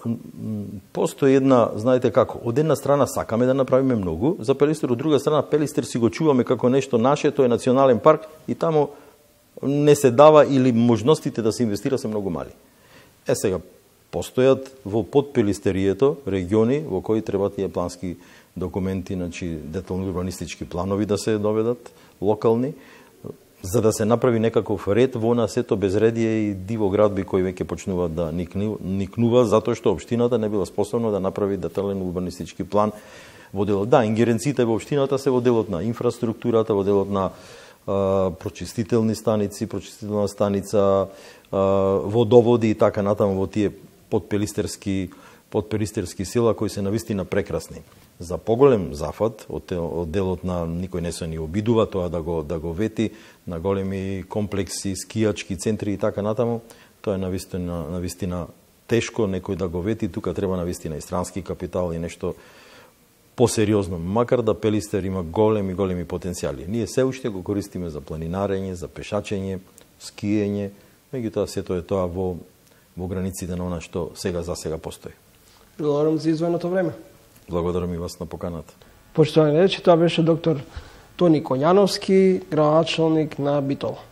постои една, знаете како, од една страна сакаме да направиме многу за Пелистер, од друга страна Пелистер си го чуваме како нешто наше, тоа е национален парк и таму не се дава или можностите да се инвестира се многу мали. Е сега постојат во подпелистерието региони во кои треба тие плански документи, значи детални урбанистички планови да се доведат локални, за да се направи некаков ред во на сето безредие и диво градби кои веќе почнуваат да никнува затоа што општината не била способна да направи детален урбанистички план во делот. Да, ингеренциите во општината се во делот на инфраструктурата, во делот на а, прочистителни станици, прочистителна станица, а, водоводи и така натаму во тие подпелистерски подпелистерски села кои се навистина прекрасни. За поголем зафат од, од делот на никој не се ни обидува тоа да го да го вети на големи комплекси, скијачки центри и така натаму, тоа е навистина навистина тешко некој да го вети, тука треба навистина и странски капитал и нешто посериозно, макар да Пелистер има големи големи потенцијали. Ние се уште го користиме за планинарење, за пешачење, скиење, меѓутоа сето е тоа во во границите на она што сега за сега постои. Благодарам за издвоеното време. Благодарам и вас на поканата. Поштовани речи, тоа беше доктор Тони Коњановски, градоначалник на Битола.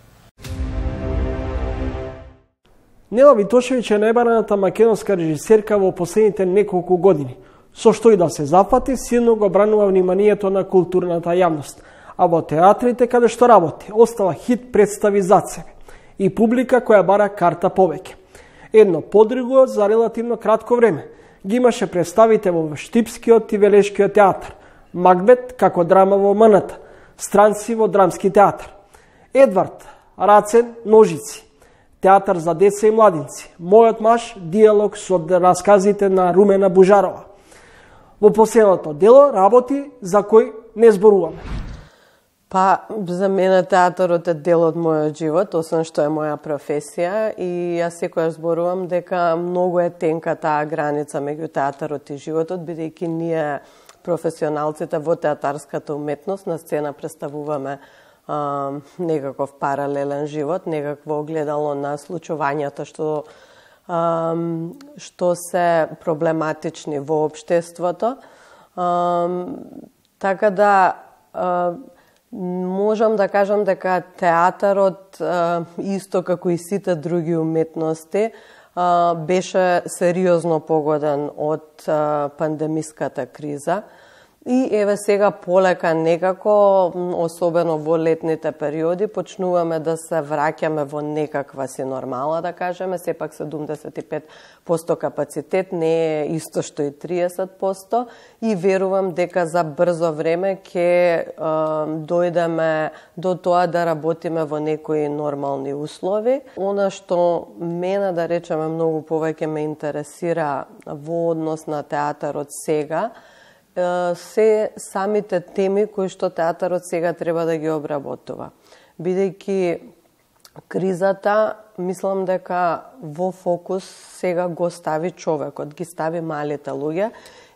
Нела Витошевиќ е најбараната македонска режисерка во последните неколку години. Со што и да се зафати, силно го бранува вниманието на културната јавност, а во театрите каде што работи, остава хит представи зад себе и публика која бара карта повеќе. Едно подруго за релативно кратко време ги имаше представите во Штипскиот и Велешкиот театар, Макбет како драма во М Н Т, Странци во Драмски театар, Едвард, Рацен, Ножици, театар за деца и младинци, Мојот маж, диалог со расказите на Румена Бужарова. Во последното дело работи за кој не зборуваме. Па, за мене театарот е дел од мојот живот, освен што е моја професија, и јас секојаш зборувам дека многу е тенка таа граница меѓу театарот и животот, бидејќи ние професионалците во театарската уметност на сцена представуваме а, некаков паралелен живот, некакво огледало на случувањата што а, што се проблематични во општеството. А, така да а, можам да кажам дека театарот, исто како и сите други уметности, беше сериозно погоден од пандемиската криза. И еве сега полека некако, особено во летните периоди, почнуваме да се враќаме во некаква си нормала, да кажеме. Сепак седумдесет и пет проценти капацитет не е исто што и триесет проценти, и верувам дека за брзо време ќе дојдеме до тоа да работиме во некои нормални услови. Она што мене, да речеме, многу повеќе ме интересира во однос на театарот сега, се самите теми кои што театарот сега треба да ги обработува. Бидејќи кризата, мислам дека во фокус сега го стави човекот, ги стави малите луѓе,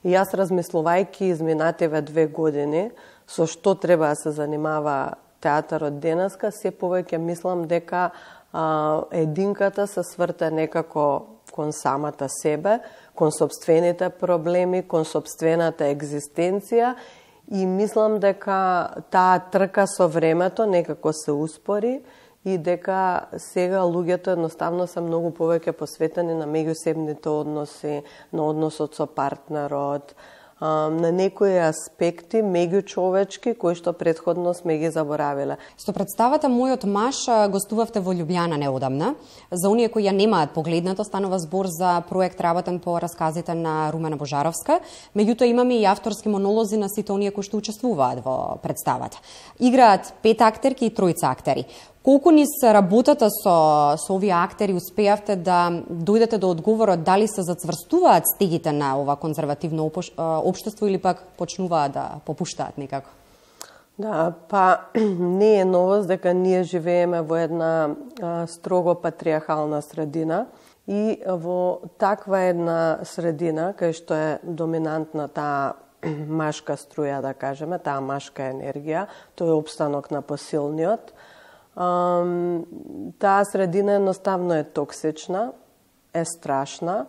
и јас размислувајќи изминативе две години со што треба да се занимава театарот денеска, се повеќе мислам дека а, единката се сврте некако кон самата себе, кон собствените проблеми, кон собствената екзистенција, и мислам дека таа трка со времето некако се успори и дека сега луѓето едноставно се многу повеќе посветени на меѓусебните односи, на односот со партнерот, на некои аспекти меѓучовечки кои што претходно сме ги заборавиле. Со представата Мојот маж гостувавте во Љубљана неодамна. За оние кои ја немаат погледнато, станува збор за проект работен по расказите на Румена Божаровска. Меѓутоа имаме и авторски монолози на сите оние кои што учествуваат во представата. Играат пет актерки и тројца актери. Колку низ работата со, со овие актери успеавте да дојдете до одговорот дали се зацврстуваат стегите на ова конзервативно општество или пак почнуваат да попуштаат некако? Да, па не е новост дека ние живееме во една а, строго патриархална средина, и во таква една средина кај што е доминантна таа машка струја, да кажеме, таа машка енергија, тој е опстанок на посилниот. Um, таа средина едноставно е токсична, е страшна,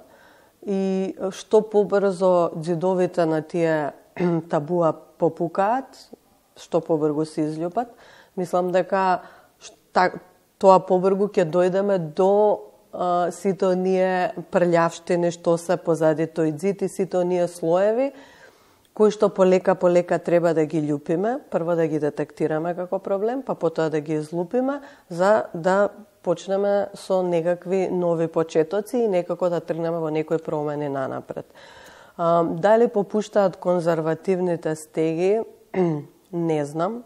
и што побрзо џидовите на тие табуа попукаат, што побрзо се изљупат, мислам дека шта, тоа побрзо ќе дојдеме до а, сите оние прљавштини што се позади тој џид и сите оние слоеви кои што полека полека треба да ги љупиме, прво да ги детектираме како проблем, па потоа да ги излупиме, за да почнеме со некакви нови почетоци и некако да тргнеме во некои промени нанапред. А, дали попуштаат конзервативните стеги, не знам,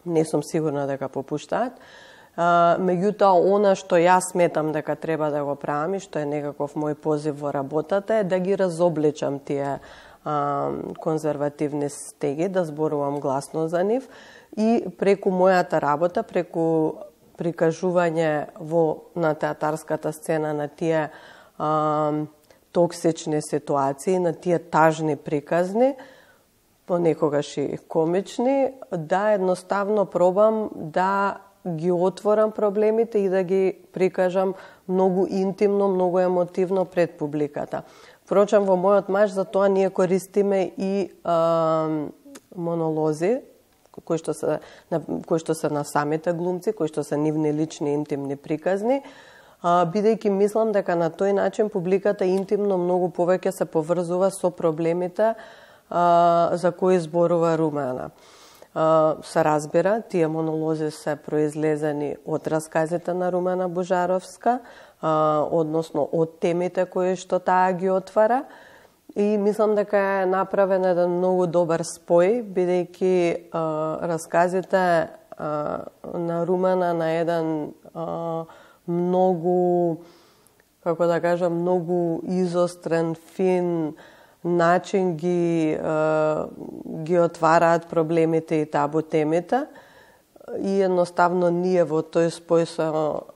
не сум сигурна дека попуштаат. А, меѓутоа, она што јас сметам дека треба да го правам и што е некаков мој позив во работата е да ги разобличам тие конзервативни стеги, да зборувам гласно за нив, и преку мојата работа, преку прикажување во на театарската сцена на тие а, токсични ситуации, на тие тажни приказни, понекогаш и комични, да едноставно пробам да ги отворам проблемите и да ги прикажам многу интимно, многу емотивно пред публиката. Впрочем, во Мојот маж за тоа ние користиме и а, монолози, кои што се на, кои што се на самите глумци, кои што се нивни лични интимни приказни, а, бидејќи мислам дека на тој начин публиката интимно многу повеќе се поврзува со проблемите а, за кои зборува Румена. А, се разбира, тие монолози се произлезени од расказите на Румена Божаровска, а, односно од темите кои што таа ги отвара, и мислам дека е направен еден многу добар спој, бидејќи расказите а, на Румена на еден а, многу, како да кажам, многу изострен, фин начин ги, ги отвараат проблемите и табу темите. И едноставно ние во тој спој со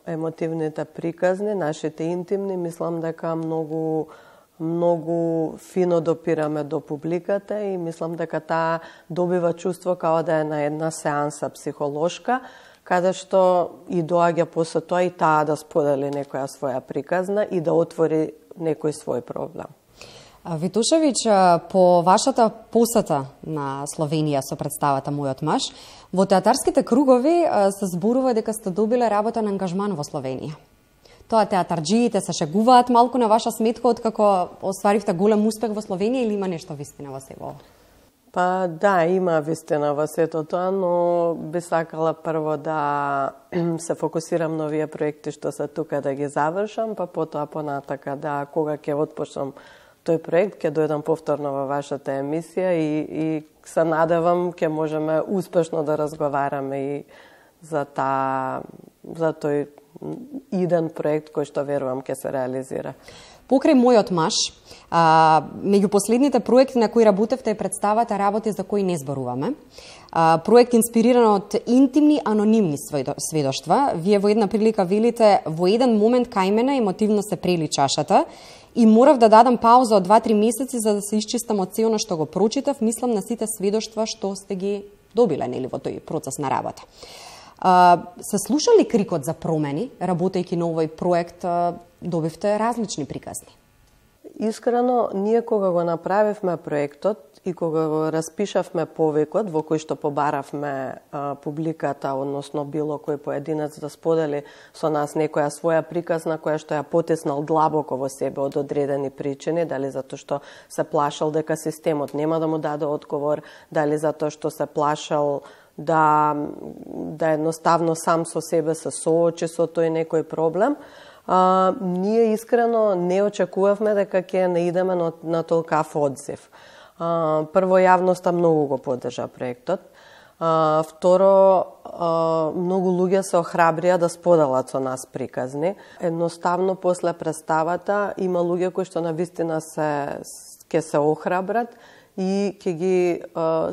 емотивните приказни, нашите интимни, мислам дека многу многу фино допираме до публиката и мислам дека таа добива чувство као да е на една сеанса психолошка, каде што и доаѓа после тоа и таа да сподели некоја своја приказна и да отвори некој свој проблем. Витушевиќ, по вашата посета на Словенија со представата Мојот маж, во театарските кругови се зборува дека сте добиле работен ангажман во Словенија. Тоа театарџиите се шегуваат малку на ваша сметка откако остваривте голем успех во Словенија или има нешто вистина во себе? Па да, има вистина во сето тоа, но би сакала прво да се фокусирам на овие проекти што се тука да ги завршам, па потоа понатака да кога ќе отпочнам тој проект, ќе дојдам повторно во вашата емисија и, и се надевам ќе можеме успешно да разговараме и за та за тој иден проект кој што верувам ќе се реализира. Покрај Мојот маж, а, меѓу последните проекти на кои работевте е представата работи за кои не зборуваме. А, проект инспириран од интимни анонимни сведоштва. Вие во една прилика велите: во еден момент кај мене емотивно се прели чашата и морав да дадам пауза од два-три месеци за да се исчистам од сеono што го прочитав. Мислам на сите сведоштва што сте ги добиле нели во тој процес на работа. А, се слуша ли крикот за промени, работејќи на овој проект, а, добивте различни приказни? Искрено, ние кога го направивме проектот и кога го распишавме повикот во кој што побаравме а, публиката, односно било кој поединец да сподели со нас некоја своја приказна која што ја потеснал длабоко во себе од одредени причини, дали затоа што се плашал дека системот нема да му даде одговор, дали затоа што се плашал да, да едноставно сам со себе се соочи со тој некој проблем, а, ние искрено не очекувавме дека ќе наидеме на, на толкав одзив. А, прво, јавноста многу го поддржа проектот. А, второ, а, многу луѓе се охрабрија да споделат со нас приказни. Едноставно, после представата, има луѓе кои што навистина се, ќе се охрабрат и ќе ги а,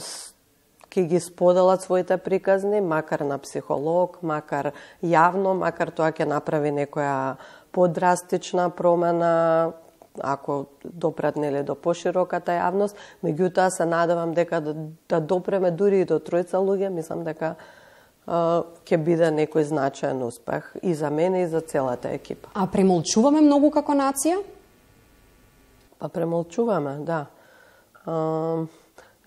ќе ги споделат своите приказни, макар на психолог, макар јавно, макар тоа ќе направи некоја подрастична промена, ако допрат нели до пошироката јавност. Меѓутоа се надевам дека да, да допреме дури и до тројца луѓе, мислам дека а, ќе биде некој значаен успех и за мене и за целата екипа. А премолчуваме многу како нација? Па премолчуваме, да. А,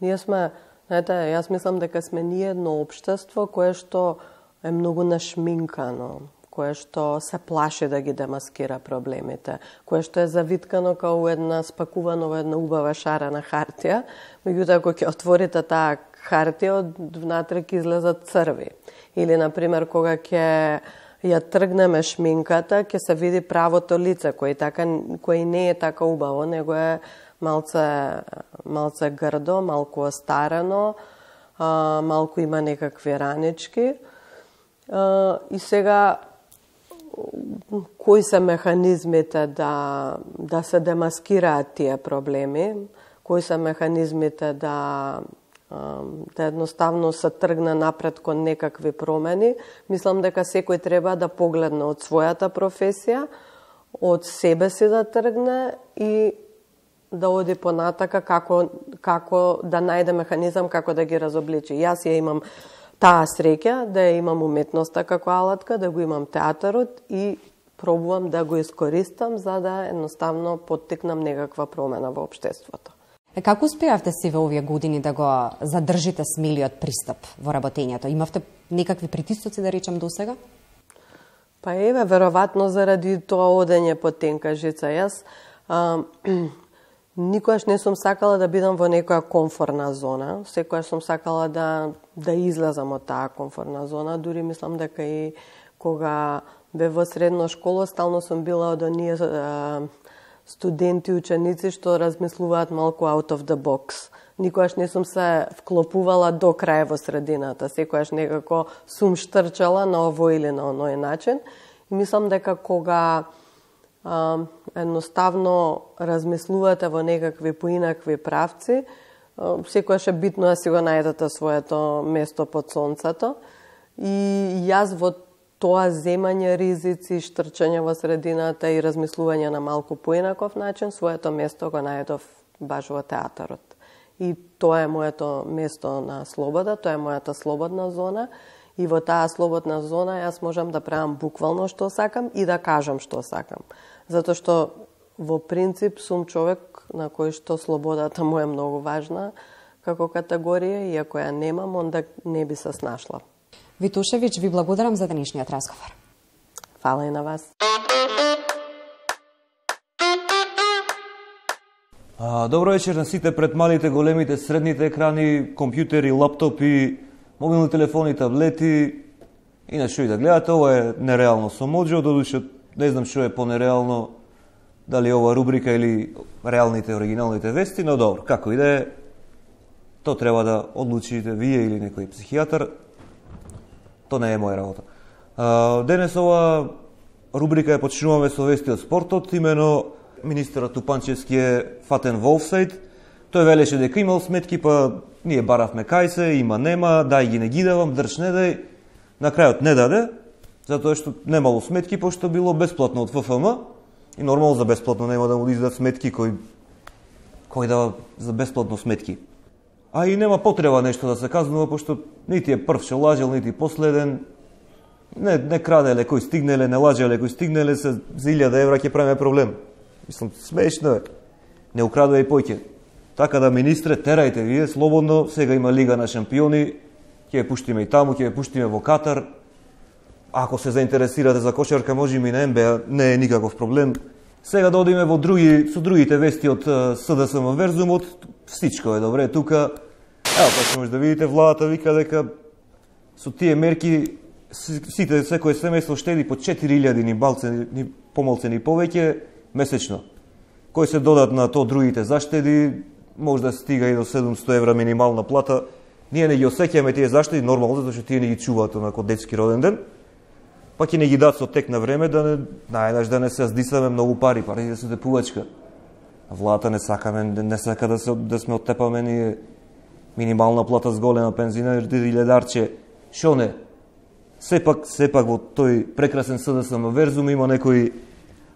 ние сме Знаете, јас мислам дека сме ние едно општество кое што е многу нашминкано, кое што се плаши да ги демаскира проблемите, кое што е завиткано као една спакувано во една убава шарена хартија, меѓутоа ако ќе отворите таа хартија, од внатре ќе излезат црви. Или, например, кога ќе ја тргнеме шминката, ќе се види правото лице, кој така кој не е така убаво, него е малце, малце грдо, малку остарено, а, малку има некакви ранички. А, и сега, кои се механизмите да, да се демаскираат тие проблеми, кои се механизмите да, да едноставно се тргне напред кон некакви промени, мислам дека секој треба да погледне од својата професија, од себе си да тргне и да оди понатака како, како да најде механизам како да ги разобличи. Јас ја имам таа среќа да ја имам уметноста како алатка, да го имам театарот и пробувам да го искористам за да едноставно поттикнам некаква промена во општеството. Е, како успеавте си во овие години да го задржите смелиот пристап во работењето? Имавте некакви притисоци, да речам, досега? Па еве, веројатно заради тоа одење по тенка жица. Јас а, никогаш не сум сакала да бидам во некоја комфорна зона. Секогаш сум сакала да, да излезам од таа комфорна зона. Дури мислам дека и кога бе во средна школа, стално сум била од оние а, студенти, ученици што размислуваат малку out of the box. Никогаш не сум се вклопувала до крај во средината. Секогаш некако сум штрчала на овој или на оној начин. И мислам дека кога а, едноставно размислувате во некакви поинакви правци, секогаш е битно да си го најдете своето место под сонцето. И јас во тоа земање ризици, штрчање во средината и размислување на малку поинаков начин, своето место го најдов баш во театарот. И тоа е моето место на слобода, тоа е мојата слободна зона. И во таа слободна зона јас можам да правам буквално што сакам и да кажам што сакам. Затоа што во принцип сум човек на кој што слободата му е многу важна како категорија и ако ја немам, онда не би се snашла. Витушевиќ, ви благодарам за денешниот разговор. Фала и на вас. А, добро вечер на сите пред малите, големите, средните екрани, компјутери, лаптопи, мобилни телефони, таблети и на што и да гледате. Ова е нереално со Моџо, додуше не знам што е по-нереално, дали ова рубрика или реалните, оригиналните вести, но добро, како и да е, то треба да одлучите вие или некој психијатар, то не е моја работа. А, денес ова рубрика е почнуваме со вести од спортот, имено министерот Тупанчевски е фатен во офсайд. Тој велеше дека имал сметки, па ние баравме кај се, има нема, дај ги не ги давам, држ не дај. На крајот не даде, затоа што немало сметки, пошто било бесплатно од Ф Ф М и нормално за бесплатно нема да му издадат сметки кој кој дава за бесплатно сметки. А и нема потреба нешто да се казнува, пошто нити е прв што лажел, нити последен. Не, не краделе кој стигнеле, не лажеле кој стигнеле, се за илјада евра ќе правиме проблем. Мислам, смешно е. Не украдува и поќе. Така да, министре, терајте вие, слободно, сега има Лига на шампиони, ќе ја пуштиме и таму, ќе ја пуштиме во Катар. Ако се заинтересирате за кошарка, можеме и на Н Б А, не е никаков проблем. Сега да одиме во други, со другите вести од С Д С М Верзумот, всичко е добре тука. Ево, па може да видите, владата вика дека со тие мерки сите, секој семејство штеди по четири илјади ни балце, ни помалце, ни повеќе месечно. Кој се додат на то другите заштеди, може да стига и до седумсто евра минимална плата. Ние не ги осеќаме тие заштеди, нормално, затоа што тие не ги чуваат онако детски роден ден. Па ќе не ги дат со тек на време да не, најнаш да не се здисаме многу пари, парите се депувачка. А владата не сакаме, не сака да се да сме оттепаме ние минимална плата с голема пензина или илјадарче. Шо не? Сепак, сепак во тој прекрасен С Д С М Верзум има некои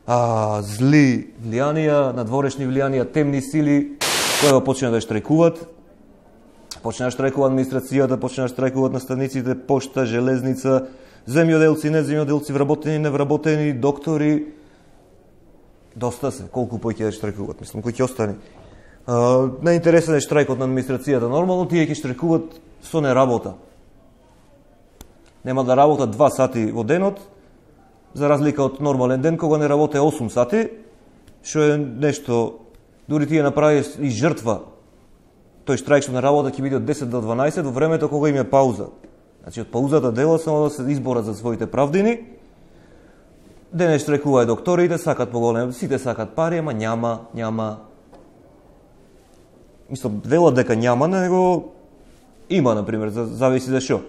а, зли влијанија, надворешни влијанија, темни сили, кои почнаа да штрajkуваат. Почнаа да штрajкува администрацијата, почнаа да штрajкуваат наставниците, пошта, железница, земјоделци, не земјоделци, вработени, невработени, доктори. Доста се, колку поќе да штрajкуваат, мислам, кој ќе остане. А, најинтересен е штрajкот на администрацијата. Нормално тие ќе штрajкуваат со неработа. Нема да работат два сати во денот, за разлика од нормален ден, кога не работе осум сати, што е нешто, дури тие направи и жртва. Тој штрајк што на работа ќе биде од десет до дванаесет, во времето кога им е пауза. Значи, од паузата дела само да се изборат за своите правдини. Денес штрajkуваат докторите, сакат поголем, сите сакат пари, ама няма, няма. Мислам, велат дека няма, него има, например, зависи за шо.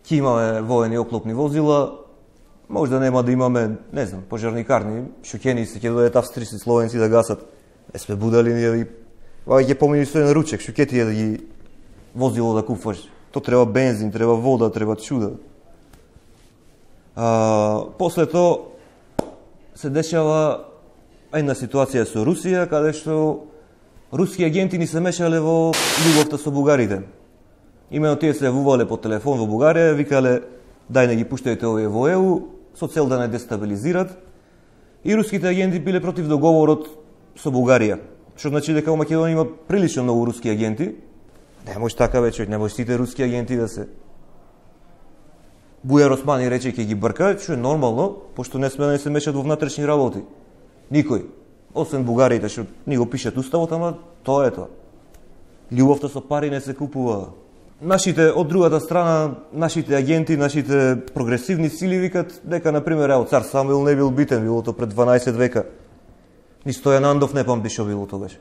Ке имаме воени оклопни возила, може да нема да имаме, не знам, пожарникарни, шокени се ќе дојдат австрийци, словенци да гасат. Не сме будали ние да ги... Вај ќе помини со еден ручек, што ќе ти е да ги возило да купуваш. То треба бензин, треба вода, треба чуда. А, после тоа се дешава една ситуација со Русија, каде што руски агенти ни се мешале во љубовта со бугарите. Имено тие се јавувале по телефон во Бугарија, викале дај не ги пуштајте овие во Е У, со цел да не дестабилизират. И руските агенти биле против договорот со Бугарија. Што значи дека во Македонија има прилично многу руски агенти. Не може така вече, не може сите руски агенти да се... Бујар Османи рече ќе ги брка, што е нормално, пошто не сме да не се мешат во внатрешни работи. Никој. Освен бугарите, што ни го пишат уставот, ама тоа е тоа. Љубовта со пари не се купува. Нашите, од другата страна, нашите агенти, нашите прогресивни сили викат дека, например, ево, цар Самуил не бил битен, било то пред дванаесет века. Ни Стојан Андов не памти шо било тогаш.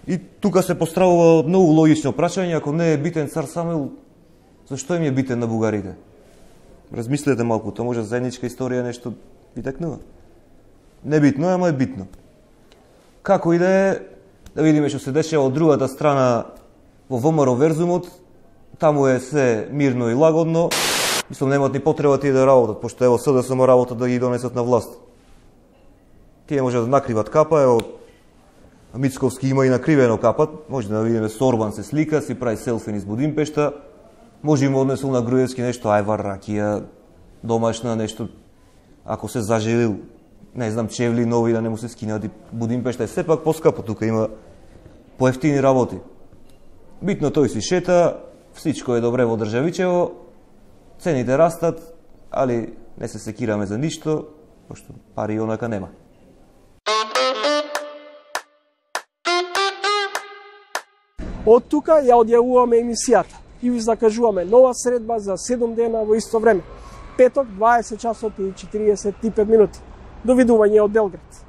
И тука се поставува многу логично прашање, ако не е битен цар Самуил, зашто им е битен на бугарите? Размислете малку, тоа може заедничка историја нешто ви текнува. Небитно е, ама е битно. Како и да е, да видиме што се дешава од другата страна во ВМРО Верзумот, таму е се мирно и лагодно. Мислам, немаат ни потреба тие да работат, пошто ево СДСМ работат да ги донесат на власт. Тие може да накриват капа, ево Мицковски има и накривено капат, може да видиме со Орбан се слика, си прави селфи низ Будимпешта, може им однесол на Груевски нешто ајвар, ракија, домашна нешто, ако се зажелил, не знам, чевли нови да не му се скинат и Будимпешта е сепак поскапо, тука има поевтини работи. Битно тој си шета, всичко е добре во државичево, цените растат, али не се секираме за ништо, пошто пари онака нема. Од тука ја одјавуваме емисијата и ви закажуваме нова средба за седум дена во исто време. Петок, дваесет часот и четириесет и пет минути. Довидување од Белград.